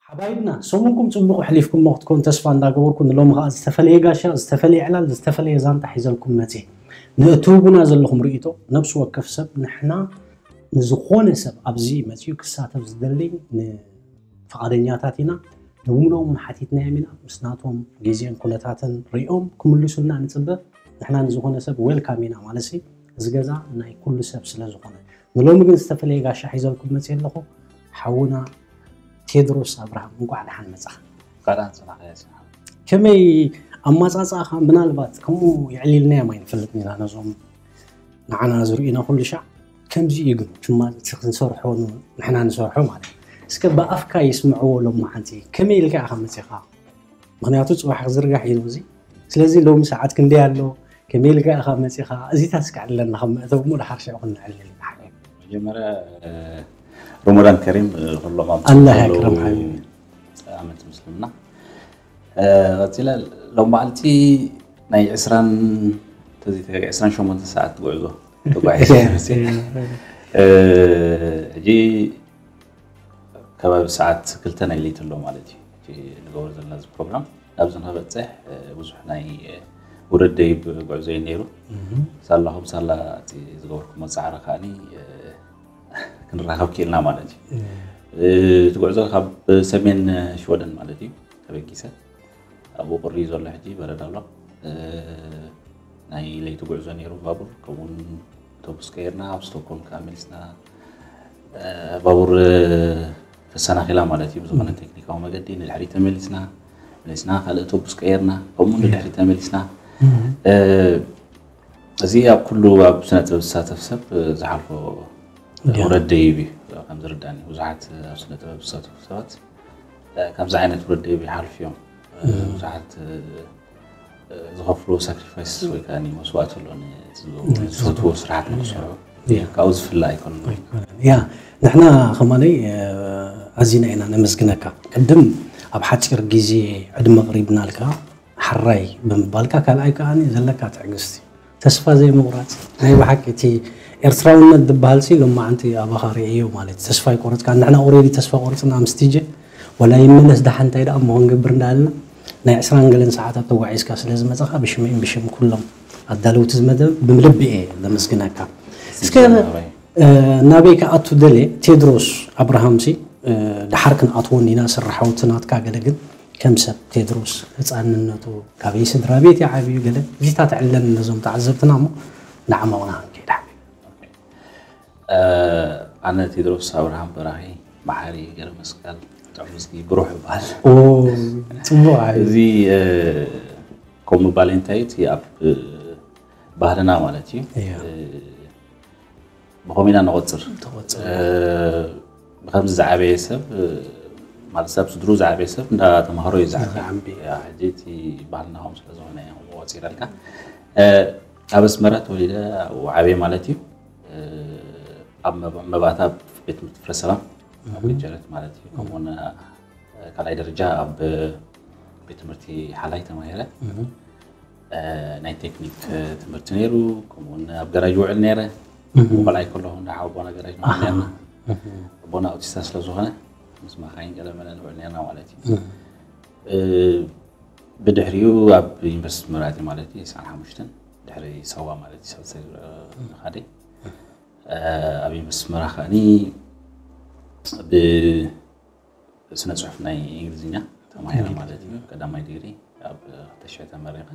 ሓባይብና ሰሙንኩም ጽቡቕ ኣሕሊፍኩሞ ክትኮኑ ተስፋ እንዳገበርኩ፣ ንሎሚ ከኣ ዝተፈለየ ጋሻ፣ ዝተፈለየ ዕላል፣ ዝተፈለየ ዛንታ ሒዘልኩም መጽየ። ንእትህቡና ዘለኹም ርእይቶ፣ ነብሲ ወከፍ ሰብ ንሕና ንዝኾነ ሰብ ኣብዚ መጽዩ ክሳተፍ ዝደሊ ንፍቓደኛታት ኢና። ነብምኖም ሓቲትናዮም ኢና። ምስ ናቶም ግዜን ኩነታትን ሪኦም ክምልሱልና ንጽበ። ንሕና ንዝኾነ ሰብ ዌልካም ኢና ማለት ሲ፣ እዚ ገዛ ናይ ኩሉ ሰብ ስለ ዝኾነ። ንሎሚ ግን ዝተፈለየ ጋሻ ሒዘልኩም መጽየ ኣለኹ። ሓውና ቴድሮስ ኣብርሃም፣ እንቋዕ ደሓን መጻኻ። እንቋዕ ደሓን ጸናሕካ። ከመይ ኣማጻጽኣኻ? ምናልባት ከምኡ የዕሊልናዮም ኣይንፈልጥን ኢና ነዞም ንዓና ዝርእዩና ኩሉ ሻዕ። ከምዚ እዩ ግን፣ ትማ-፣ እቲ ክንሰርሖ ን-፣ ንሕና ንሰርሖ ማለት እዩ። እስከ ብኣፍካ ይስምዕዎ ሎሚ ሓንቲ። ከመይ ኢልካ ኢኻ መጺኻ? ምኽንያቱ ጽባሕ ክዝርጋሕ እዩ እዚ። ስለዚ ሎሚ ሰዓት ክንደይ ኣሎ? ከመይ ኢልካ ኢኻ መጺኻ? እዚታት እስከ ዕለና ከም መእተዊ እሞ ድሓር ሽዑ ክንዕልል ኢና ሓቢቢ። መጀመርያ፣ እ፣ ረመዳን ከሪም፣ እ፣ ኩሎም ኣብ ኣላህ ዘለዉ ያክረም ሓቢቢ። ኣመንቲ ምስልምና። እ፣ ቀጺለ ሎም መዓልቲ ናይ ዕስራን፣ ተዚ-፣ ዕስራን ሸሞንተን ሰዓት ጉዕዞ ተጓዒዘ እየ መጺአ። እ፣ ሕጂ ከባቢ ሰዓት ክልተ ናይ ለይቲ ኣሎ ማለት እዩ። እቲ ንገብሮ ዘለና እዚ ፕሮግራም ናብዚ ንክበፅሕ፣ እ፣ ብዙሕ ናይ፣ እ፣ ውረድ ደይብ ጉዕዞ እዩ ነይሩ። እህ። ሳላኹም ሳላ እቲ ዝገበርኩሞ ፃዕሪ ከዓኒ፣ እ፣ ክንራኸብ ክኢልና ማለት እዩ። እህ። እ፣ እቲ ጉዕዞ ካብ ሰሜን ሽወደን ማለት እዩ ተበጊሰ። ኣብኡ ቁሪ እዩ ዘሎ ሕጂ፣ በረድ ኣሎ። እ፣ ናይ ለይቲ ጉዕዞ ነይሩ ባቡር፣ ከምኡውን ኣውቶቡስ ቀይርና፣ ኣብ ስቶክሆልም ከኣ መሊስና። እ፣ ባቡር፣ እ፣ ተሰናኺላ ማለት እዩ፣ ብዝኾነ እም። ቴክኒካዊ መገዲ ንድሕሪት ተመሊስና፣ መሊስና ካልእ ኣውቶቡስ ቀይርና፣ ከምኡ እም። ንድሕሪት ተመሊስና። እም። እ፣ እዚ ኣብ ኩሉ ኣብ ስነ ጥበብ ዝሳተፍ ሰብ፣ እ፣ ዝሓልፎ እንዲያ። ውረድ ደይብ እዩ፣ ከም ዝርዳኒ። ብዙሓት ኣብ ስነ ጥበብ ዝሳተፉ ሰባት፣ እ፣ ከምዚ ዓይነት ውረድ ደይብ ይሓልፉ እዮም። እ፣ እም። ብዙሓት፣ እ፣ ዝኸፍልዎ ሳክሪፋይስ ወይ ከዓ መስዋእቲ ኣሎ፣ ዝፈትዎ ስራሓት ንክሰርሑ። ካብኡ ዝፍለ ኣይኮነን። ያ፣ ንሕና ከማለይ ኣዚና ኢና ነመስግነካ። ቅድም ኣብ ሓፂር ግዜ ዕድመ ቅሪብናልካ፣ ሓራይ ብምባልካ፣ ካልኣይ ከዓ ዘለካ ትዕግስቲ፣ ተስፋ ዘይምቑራፅ። ናይ ብሓቂ እቲ ኤርትራውነት ዝበሃል ሲ ሎማዓንቲ ኣባኻ ርእዮ ማለት እዩ። ተስፋ ይቆረፅካ። ንሕና ኦሬዲ ተስፋ ቆርፅና ምስ ቲጀ፣ ወላ ይመለስ ደሓን እንታይ ደኣ እሞ ክንገብር እንዳበልና ናይ ዕስራን ገለን ሰዓታት ተጓዒዝካ ስለ ዝመጻኻ ብሽመይን ብሽም ኩሎም ኣዳለውቲ ዝመደብ ብምልቢ እየ ዘመስግነካ። እስከ ናበይ ክኣቱ ደልየ፣ ቴድሮስ ኣብርሃምሲ ድሓር ክንኣትዎ እንዲና፣ ስራሓውቲ ናትካ ገለ ግን ከም ሰብ ቴድሮስ ህፃንነቱ ካበይ ስድራ ቤት ይዓብዩ ገለ እዚታት ዕለን ነዞም ተዓዘብትና እሞ ንዓማውና ክንከይድ ሓቢብ። ኣነ ቴድሮስ ኣብርሃም በራኺ መሓሪ ገረ መስቀል ጥዑም ዝጊ ብሩሕ ይበሃል። ጽቡቕ። እዚ ከምኡ ምባል እንታይ እቲ ኣብ ባህልና ማለት እዩ። ብኸምኡ ኢና ንቆፅር። ብኸምዚ ዝዓበየ ሰብ ማለት ሰብ ስድሩ ዝዓበየ ሰብ እንዳ ተምሃሮ እዩ ዝዓበየ። ሕጂ እቲ ባህልና ከምኡ ስለዝኾነ እዩ ከምኡ ቆፂረልካ። ኣብ ኣስመራ ተወሊደ ኣብኡ ዓብየ ማለት እዩ። ኣብ መባእታ ቤት ትምህርቲ ፍረ ሰላም ኣብ ገጀረት ማለት እዩ። ከምኡውን ካልኣይ ደረጃ ኣብ ቤት ትምህርቲ ሓላይ ተማሂረ። ናይ ቴክኒክ ትምህርቲ ነይሩ። ከምኡውን ኣብ ገራጅ ውዕል ነይረ። ቆልዓ ከለኹ እንዳ ሓወቦና ገራጅ ነርና። ኣቦና ኣውቲስታ ስለዝኾነ ምስ ማኻይን ገለመለ ንውዕል ነርና ማለት እዩ። ብድሕሪኡ ኣብ ዩኒቨርሲቲ መራእቲ ማለት እዩ ስዓን ሓሙሽተን ድሕሪ ሰዋ ማለት እዩ ሰብሰ ንኻደ ኣብ ዩኒቨርሲቲ መራ ከዓኒ ብስነ ፅሑፍ ናይ እንግሊዝኛ ተማሂረ ማለት እዩ። ቀዳማይ ዲግሪ ኣብ ክልተ ሽሕ ተመሪቐ።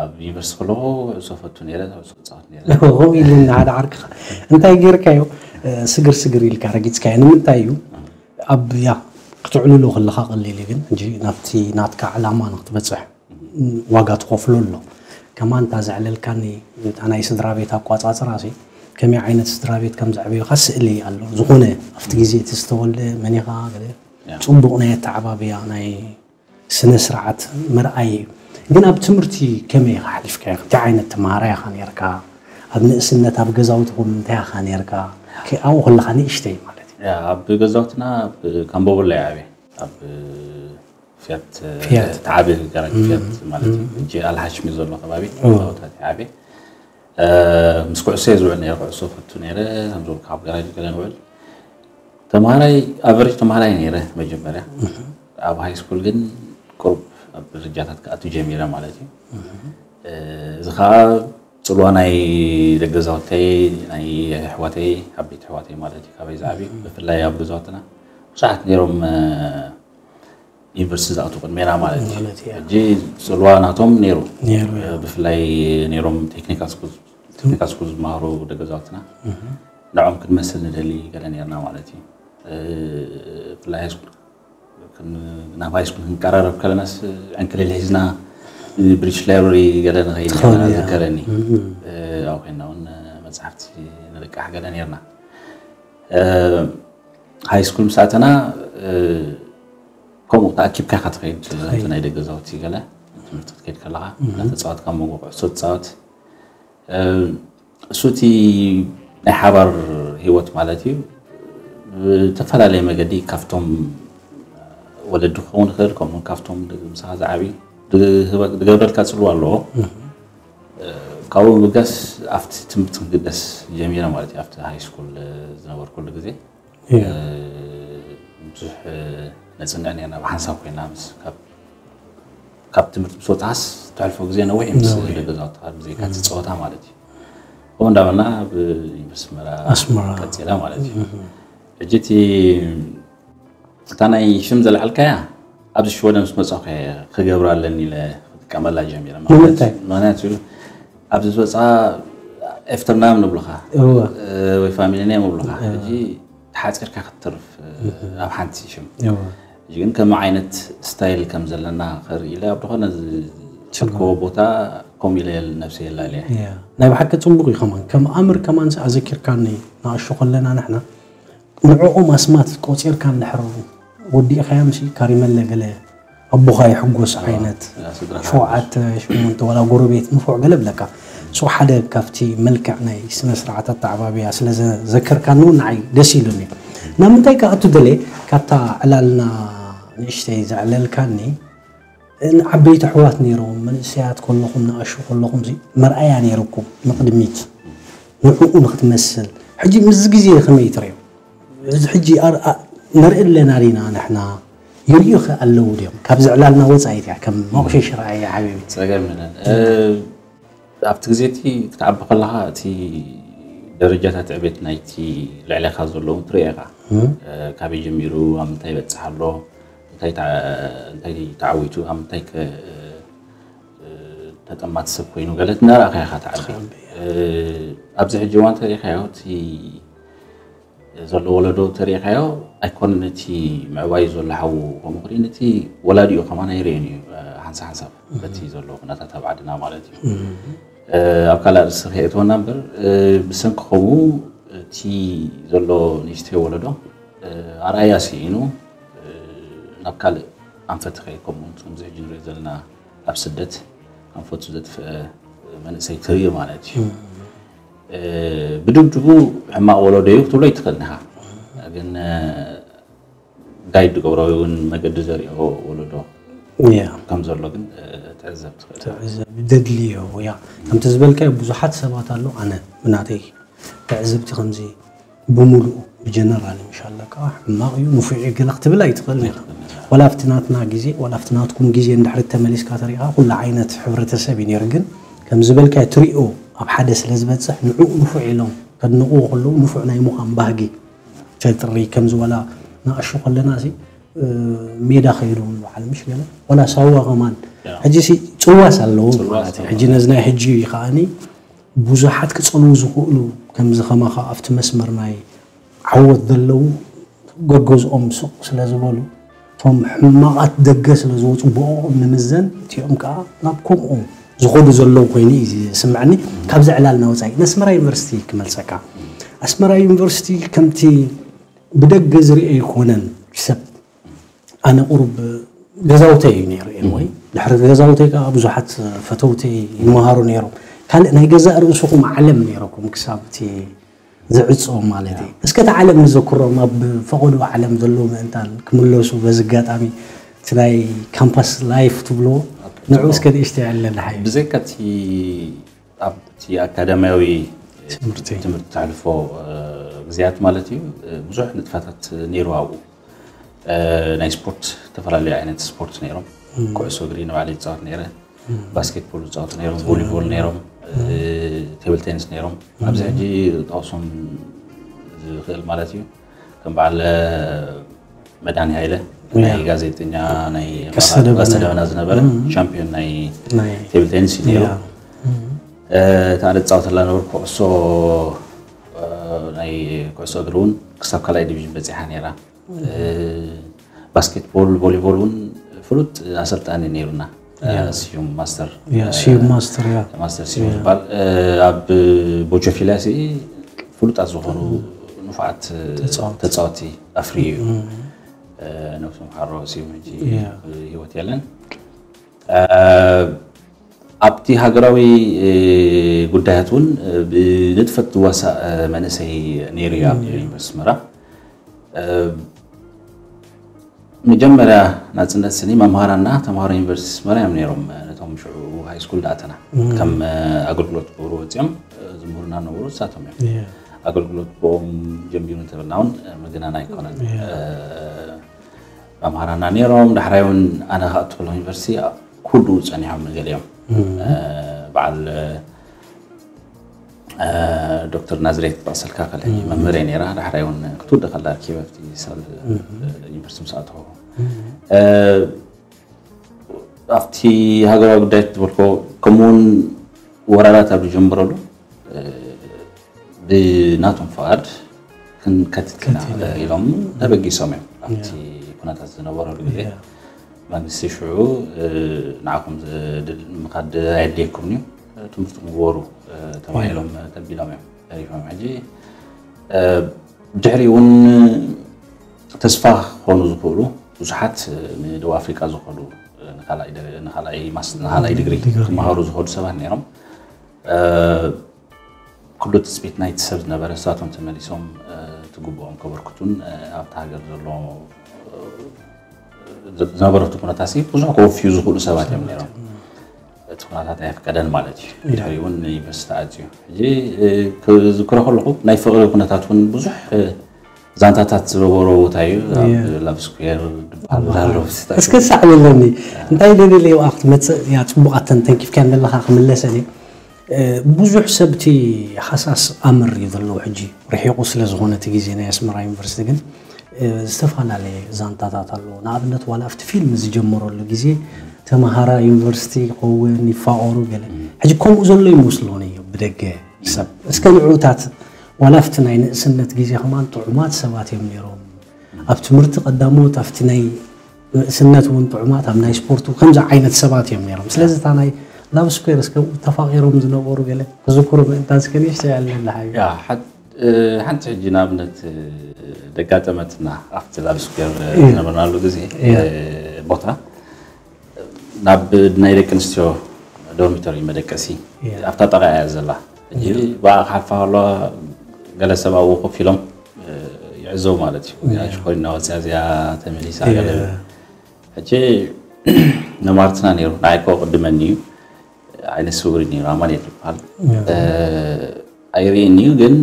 ኣብ ዩኒቨርሲቲ ከለኹ ዕሶ ፈቱ ነይረ፣ ዕሶ ፃወት ነይረ። ከምኡ ኢሉ ንሓደ ዓርክኻ እንታይ ጌርካዮ? ስግር ስግር ኢልካ ረጊፅካዮ ንምንታይ እዩ? ኣብ ያ ክትዕልሎ ከለኻ ቀሊል እዩ፣ ግን ሕጂ ናብቲ ናትካ ዕላማ ንክትበፅሕ ዋጋ ትኸፍሎ ኣሎ። ከማን እታ ዘዕለልካኒ እታ ናይ ስድራ ቤት ኣቋፃፅራ ሲ ከመይ ዓይነት ስድራ ቤት ከም ዘዕበዩካ ስእሊ ኣሎ። ዝኾነ ኣብቲ ግዜ እቲ ዝተወልደ መን ኢኻ ገለ ጽቡቕ ናይ ኣተዓባብያ ናይ ስነ ስርዓት ምርኣይ እዩ። ግን ኣብ ትምህርቲ ከመይ ኢኻ ሓሊፍካዮ? እንታይ ዓይነት ተምሃራይ ኢኻ ነርካ? ኣብ ንእስነት ኣብ ገዛውትኹም እንታይ ኢኻ ነርካ? ኣብኡ ከለኻ ንእሽተይ ማለት እዩ። ኣብ ገዛውትና ኣብ ካምቦቦላ እዩ ዓብየ። ኣብ ፊያት ፊያት። ተዓቢ ገራጅ ፊያት ማለት እዩ። ሕጂ ኣልሓሽሚ ዘሎ ከባቢ እ። ገዛውታት ዓቢ። ምስ ኩዕሶ እየ ዝውዕል ነይረ፣ ኩዕሶ ፈቱ ነይረ። ከም ዝበልኩ ኣብ ገራጅ ገለ ንውዕል። ተምሃራይ ኣቨሬጅ ተምሃራይ ነይረ መጀመርያ። ኣብ ሃይ ስኩል ግን ቁሩብ ኣብ ደረጃታት ክኣቱ ጀሚረ ማለት እዩ። እዚ ከዓ ፅልዋ ናይ ደገዛውተይ ናይ ኣሕዋተይ ዓበይቲ ኣሕዋተይ ማለት እዩ ካበይ ዝዓብዩ ብፍላይ ኣብ ገዛውትና ብዙሓት ነይሮም ዩኒቨርሲቲ ዝኣትዉ ቅድሜና ማለት እዩ። ሕጂ ፅልዋ ናቶም ነይሩ። ብፍላይ ነይሮም ቴክኒካል ስኩል ዝመሃሩ ደገዛውትና ንዖም ክንመስል ንደሊ ገለ ነርና ማለት እዩ። ብፍላይ ሃይስኩል ናብ ሃይስኩል ክንቀራረብ ከለናስ ዕንክሊል ሒዝና ብሪች ላይብረሪ ገለ ንኸይድ ዝከረኒ ኣብ ኮይና እውን መፅሓፍቲ ንልቃሕ ገለ ነርና። ሃይስኩል ምስ ኣተና ከምኡ ተኣኪብካ ኢኻ ትኸይድ። ኣብቲ ናይ ደገ ገዛውቲ ገለ ትምህርቲ ክትከይድ ከለኻ እናተፃወትካ መንጎ ኩዕሶ ትፃወት። እሱ እቲ ናይ ሓባር ሂወት ማለት እዩ። ብተፈላለየ መገዲ ካብቶም ወለዲ ክኸውን ይኽእል፣ ከምኡ ካብቶም ምሳኻ ዝዓብዩ ዝገብረልካ ፅልዋ ኣለዎ። ካብኡ ብምብጋስ ኣብቲ ትምህርቲ ክግደስ ጀሚረ ማለት እዩ። ኣብቲ ሃይስኩል ዝነበርኩሉ ግዜ ብዙሕ ነፅንዕ ነርና ብሓንሳብ ኮይና ምስ ካብ ትምህርቲ ምስ ወፅኻስ ትሕልፎ ግዜ ነዊሕ ምስ ደገ ገዛውትኻ ብዘይካ እቲ ፀወታ ማለት እዩ። ከምኡ እንዳበልና ኣብ ዩኒቨርሲቲ ኣስመራ ኣስመራ። ቀፂላ ማለት እዩ። ሕጂ እቲ እታ ናይ ሽም ዘልዓልካያ ኣብዚ ሽወደን ምስ መፃኹ እየ ክገብራ ኣለኒ ኢለ ክጥቀመላ ጀሚረ። ንምንታይ? ምክንያቱ ኣብዚ ዝወፅኣ ኤፍተርናም ንብሉኻ እወ። ወይ ፋሚሊ ኔም ንብሉኻ። ሕጂ ተሓፂርካ ክትተርፍ ኣብ ሓንቲ ሽም እወ። ሕጂ ግን ከም ዓይነት ስታይል ከም ዘለና ክርኢ ኢለ ኣብ ዝኾነ ዝሰኮ ቦታ ኮም ኢለ ነብሰ የላልየ። እያ። ናይ ብሓቂ ጽቡቕ እዩ ከማን ከም ኣምር ከማን ኣዘኪርካኒ ንኣሽቱ ከለና ንሕና ንዕኦም ኣስማት ቆጺርካ እንድሕር ወዲእካዮምሲ ካሪመለ ገለ ኣቦኻ ይሕጎስ ዓይነት ሸውዓተ ሸሞንተ ዋላ ጎረቤት ንፉዕ ገለ ብለካ። ሶ ሓደ ካብቲ መልክዕ ናይ ስነ ስርዓት ኣተዓባብያ ስለ ዘዘከርካኒ እውን ንዓይ ደስ ኢሉኒ። ናብ ምንታይ ክኣቱ ደለ ካብታ ዕላልና ንእሽተይ ዘዕለልካኒ፣ ዓበይቲ ኣሕዋት ነይሮም፣ መንእሰያት ከለኹም፣ ንኣሽቱ ከለኹም ሲ መርኣያ ነይርኩም ንቕድሚት፣ ንዕኡ ንክትመስል። ሕጂ ምስ ግዜ ከመይ ትርእዮ? እዚ ሕጂ ኣር- ኣ- ንርኢ ኣለና ዲና ንሕና? ይርእዩኸ ኣለዉ ድዮም? ካብዚ ዕላልና ወጻኢት እያ፣ ከም መቑሸሽ ረኣያ ሓቢቢ። ጸገም የለን። እ፣ ኣብቲ ግዜ እቲ ክትዓቢ ከለኻ እቲ ደረጃታት ዕቤት ናይቲ ልዕሌኻ ዘለዉ ትርእዮ ኢኻ። እ፣ ካበይ ጀሚሩ ኣብ ምንታይ ይበጽሕ ኣሎ፣ እንታይ ተዓ- እንታይ ተዓዊቱ ኣብ ምንታይ ከ- እ፣ ተጠማቲ ሰብ ኮይኑ ገለ እናረኣኻ ኢኻ ትዓቢ። እ፣ ኣብዚ ሕጂ እዋን ተሪኢኻዮ እቲ ዘሎ ወለዶ ተሪኢኻዮ ኣይኮነን እቲ ምዕባይ ዘሎ ሓዉ ከምኡ ክርኢ ነቲ ወላዲኡ ከማን ኣይርእን እዩ። ሓንሳ ሓንሳብ በቲ ዘሎ ኩነታት ኣብ ዓድና ማለት እዩ። ኣብ ካልእ ኣርእስቲ ከየእትወና እምበር ብሰንኪ ከምኡ እቲ ዘሎ ንእሽተይ ወለዶ ኣርኣያ ስኢኑ ናብ ካልእ ኣንፈት ከይድ ከምኡ ከምዚ ሕጂ ንሪኦ ዘለና ኣብ ስደት ኣንፈቱ ዘጥፍአ መንእሰይ ትርኢ ማለት እዩ። ብድብድቡ ሕማቕ ወለዶ እዩ ክትብሎ ይትኽእል ኢኻ። ግን ጋይድ ዝገብሮ እውን መገዲ ዘሪኦ ወለዶ ከም ዘሎ ግን ትዕዘብ ትኽእል። ዘድልዮ ያ ከምቲ ዝበልካዮ ብዙሓት ሰባት ኣሎ። ኣነ ብናተይ ትዕዝብቲ ከምዚ ብምሉኡ ብጀነራል ምሻለ ከዓ ሕማቕ እዩ ንፉዕ እዩ ገለ ክትብል ኣይትኽእል ኢኻ። ዋላ ኣብቲ ናትና ግዜ ዋላ ኣብቲ ናትኩም ግዜ እንድሕሪ ተመሊስካ ተሪእኻ ኩሉ ዓይነት ሕብረተሰብ እዩ ነይሩ። ግን ከም ዝበልካዮ ትሪኦ ኣብ ሓደ ስለ ዝበፅሕ ንዕኡ ንፉዕ ኢሎም ከድንቕዎ ከለዉ ንፉዕ ናይ ምዃን ባህጊ ተጥሪ ከምዚ ዋላ ንኣሹ ከለና ሲ ሜዳ ከይዱ በዓል ምሽ ገለ ዋላ ሳዋ ከማን ሕጂ ሲ ፅዋስ ኣለዎ ማለት እዩ። ሕጂ ነዚ ናይ ሕጂ ከዓኒ ብዙሓት ክፀልዉ ዝኽእሉ ከምዚ ከማኻ ኣብቲ መስመር ናይ ዓወት ዘለዉ ገገዝኦም ስቕ ስለ ዝበሉ እቶም ሕማቓት ደገ ስለ ዝወፁ ብኦም ንምዘን እቲኦም ከዓ ናብ ከምኡ ዝኸዱ ዘለዉ ኮይኑ እዩ ዝስምዐኒ። ካብዚ ዕላልና ወፃኢ ንኣስመራ ዩኒቨርሲቲ ክመልሰካ። ኣስመራ ዩኒቨርሲቲ ከምቲ ብደገ ዝርአ ይኮነን ሰብ ኣነ ቁሩብ ገዛውተይ እዩ ነይሩ ኤርወይ ድሕሪ ገዛውተይ ከዓ ብዙሓት ፈተውተይ ይመሃሩ ነይሮም። ካልእ ናይ ገዛእ ርእስኹም ዓለም ነይረኩም ክሳብ እቲ ዝዕጾ ማለት እዩ። እስከ እቲ ዓለም ንዘክሮም ኣብ ፈቐዶ ዓለም ዘለዉ ምእንታን ክምለሱ በዚ ኣጋጣሚ እቲ ናይ ካምፓስ ላይፍ ትብልዎ ንዑ እስከ ንእሽተይ ኣለና ሓዩ። ብዘይካ እቲ ኣብቲ ኣካዳሚያዊ ትምህርቲ ትምህርቲ ተሕልፎ ግዜያት ማለት እዩ ብዙሕ ንጥፈታት ነይሩ ኣብኡ ናይ ስፖርት ዝተፈላለዩ ዓይነት ስፖርት ነይሮም። ኩዕሶ እግሪ ንባዕለይ ይፃወት ነይረ፣ ባስኬትቦል ይፃወቱ ነይሮም፣ ቮሊቦል ነይሮም፣ ቴብል ቴኒስ ነይሮም። ኣብዚ ሕጂ ጠቕሶም ዝኽእል ማለት እዩ ከም በዓል መድሃኒ ሃይለ ናይ ጋዜጠኛ ናይ ቀስተ ደበና ዝነበረ ሻምፒዮን ናይ ቴብል ቴኒስ እዩ ነይሩ። እታ ኣነ ዝፃወተላ ነበርኩ ኩዕሶ ናይ ኩዕሶ እግሪ እውን ክሳብ ካልኣይ ዲቪዥን በፂሓ ነይራ። ባስኬትቦል ቮሊቦል እውን ፍሉጥ ኣሰልጣኒ ነይሩና። ስዩም ማስተር ስዩም ማስተር ያ ማስተር ስዩም ዝበሃል ኣብ ቦጆፊላ ሲ ፍሉጣት ዝኾኑ ንፉዓት ተፃወቲ ኣፍርዩ እዩ። ነብሱ ምሓሮ ስዩም ሕጂ ህይወት የለን። ኣብቲ ሃገራዊ ጉዳያት እውን ብንጥፈት ዝዋሳእ መንእሰይ ነይሩ እዩ ኣብ ዩኒቨርስቲ ኣስመራ። መጀመርያ ናፅነት ስኒ መምሃራና ተምሃሮ ዩኒቨርሲቲ ኣስመራ እዮም ነይሮም። ነቶም ሽዑ ሃይስኩል ዝኣተና ከም ኣገልግሎት ክገብሩ ወፂኦም ዝምህሩና ነበሩ ንሳቶም እዮም። ኣገልግሎት ብኦም ጀሚሩ እንተበልና እውን ምግናን ኣይኮነን። መምሃራና ነይሮም። ዳሕራይ እውን ኣነ ክኣቱ ከለኹ ዩኒቨርሲቲ ክውድኡ ፀኒሖም ገሊኦም። በዓል ዶክተር ናዝሬት ክጠቕሰልካ ከለ መምህር እየ ነይራ። ዳሕራይ እውን ክትውደ ከላ ርኪበ ኣብቲ ሳል ዩኒቨርሲቲ ምስ ኣተኹ ኣብቲ ሃገራዊ ጉዳይ ዝበልኮ ከምኡውን ወራራት ኣብ ዝጀምረሉ ብናቶም ፍቓድ ክንከትት ኢና ኢሎም ተበጊሶም እዮም። ኣብቲ ኩነታት ዝነበረሉ ግዜ መንግስቲ ሽዑ ንዓኹም ምኻድ ኣየድልየኩም እዩ ትምህርትኩም ግበሩ ተባሂሎም ተቢሎም እዮም ተሪፎም። ሕጂ ብድሕሪ እውን ተስፋ ክኾኑ ዝኽእሉ ብዙሓት ንደቡብ ኣፍሪቃ ዝኸዱ ንኻልኣይ ዲግሪ ክመሃሩ ዝኸዱ ሰባት ነይሮም። ኩሉ ትፅቢት ናይቲ ሰብ ዝነበረ ንሳቶም ተመሊሶም ትግብኦም ከበርክቱን ኣብቲ ሃገር ዘሎ ዝነበረቱ ኩነታት ብዙሕ ከወፍዩ ዝኽእሉ ሰባት እዮም ነይሮም። እቲ ኩነታት ኣየፍቀደን ማለት እዩ። ድሕሪኡ እውን ዩኒቨርሲቲ ኣፅዩ። ሕጂ ክዝክሮ ከለኹ ናይ ፍቕሪ ኩነታት እውን ብዙሕ ዛንታታት ዝነበሮ ቦታ እዩ። ኣብ ላቭ ስኩዌር ዝበሃል ኣሎ። እስከ ሳዕብለኒ እንታይ ደለለይ ኣብኣ ክትመፅእ እያ። ፅቡቓት ተንኪፍካ ዘለኻ ክምለሰ እየ። ብዙሕ ሰብ እቲ ሃሳስ ኣምር እዩ ዘለዎ ሕጂ ርሒቑ ስለ ዝኾነ እቲ ግዜ ናይ ኣስመራ ዩኒቨርሲቲ ግን ዝተፈላለየ ዛንታታት ኣለዎ። ንኣብነት ዋላ ኣብቲ ፊልም ዝጀመረሉ ግዜ ተምሃራ ዩኒቨርሲቲ ይኸውን ይፋቐሩ ገለ ሕጂ ከምኡ ዘሎ ይመስሎን እዩ ብደገ ሰብ። እስከ ንዑታት ዋላ ኣብቲ ናይ ንእስነት ግዜ ከማን ጥዑማት ሰባት እዮም ነይሮም። ኣብ ትምህርቲ ቀዳሞት ኣብቲ ናይ ንእስነት እውን ጥዑማት ኣብ ናይ ስፖርቱ ከምዚ ዓይነት ሰባት እዮም ነይሮም። ስለዚ እታ ናይ ላቭ ስኩዌር እስከ ተፋቒሮም ዝነበሩ ገለ ክዝክሩ ምእንታን እስከ ንእሽተይ ኣለና ሓቢቢ። ሓንቲ ሕጂ ንኣብነት ደጋጠመትና ኣብቲ ላቭ ስኩዌር ዝነበርናሉ ግዜ ቦታ ናብ ናይ ደቂ ኣንስትዮ ዶርሚቶሪ መደቀሲ ኣብታ ጠቓ እያ ዘላ። ሕጂ ብኣ ክሓልፋ ከለዋ ገለ ሰብ ኣብኡ ኮፍ ኢሎም ይዕዘቡ ማለት እዩ። እዚኣ ሽኮሪና ወፅያ እዚኣ ተመሊሳ ገለ ሕጂ ነማርትና ነይሩ ንዓይ ኮ ቅድመኒ እዩ። ዓይነት ስውሪ ነይሩ ኣማኑኤል ይበሃል። ኣይርእየኒ እዩ ግን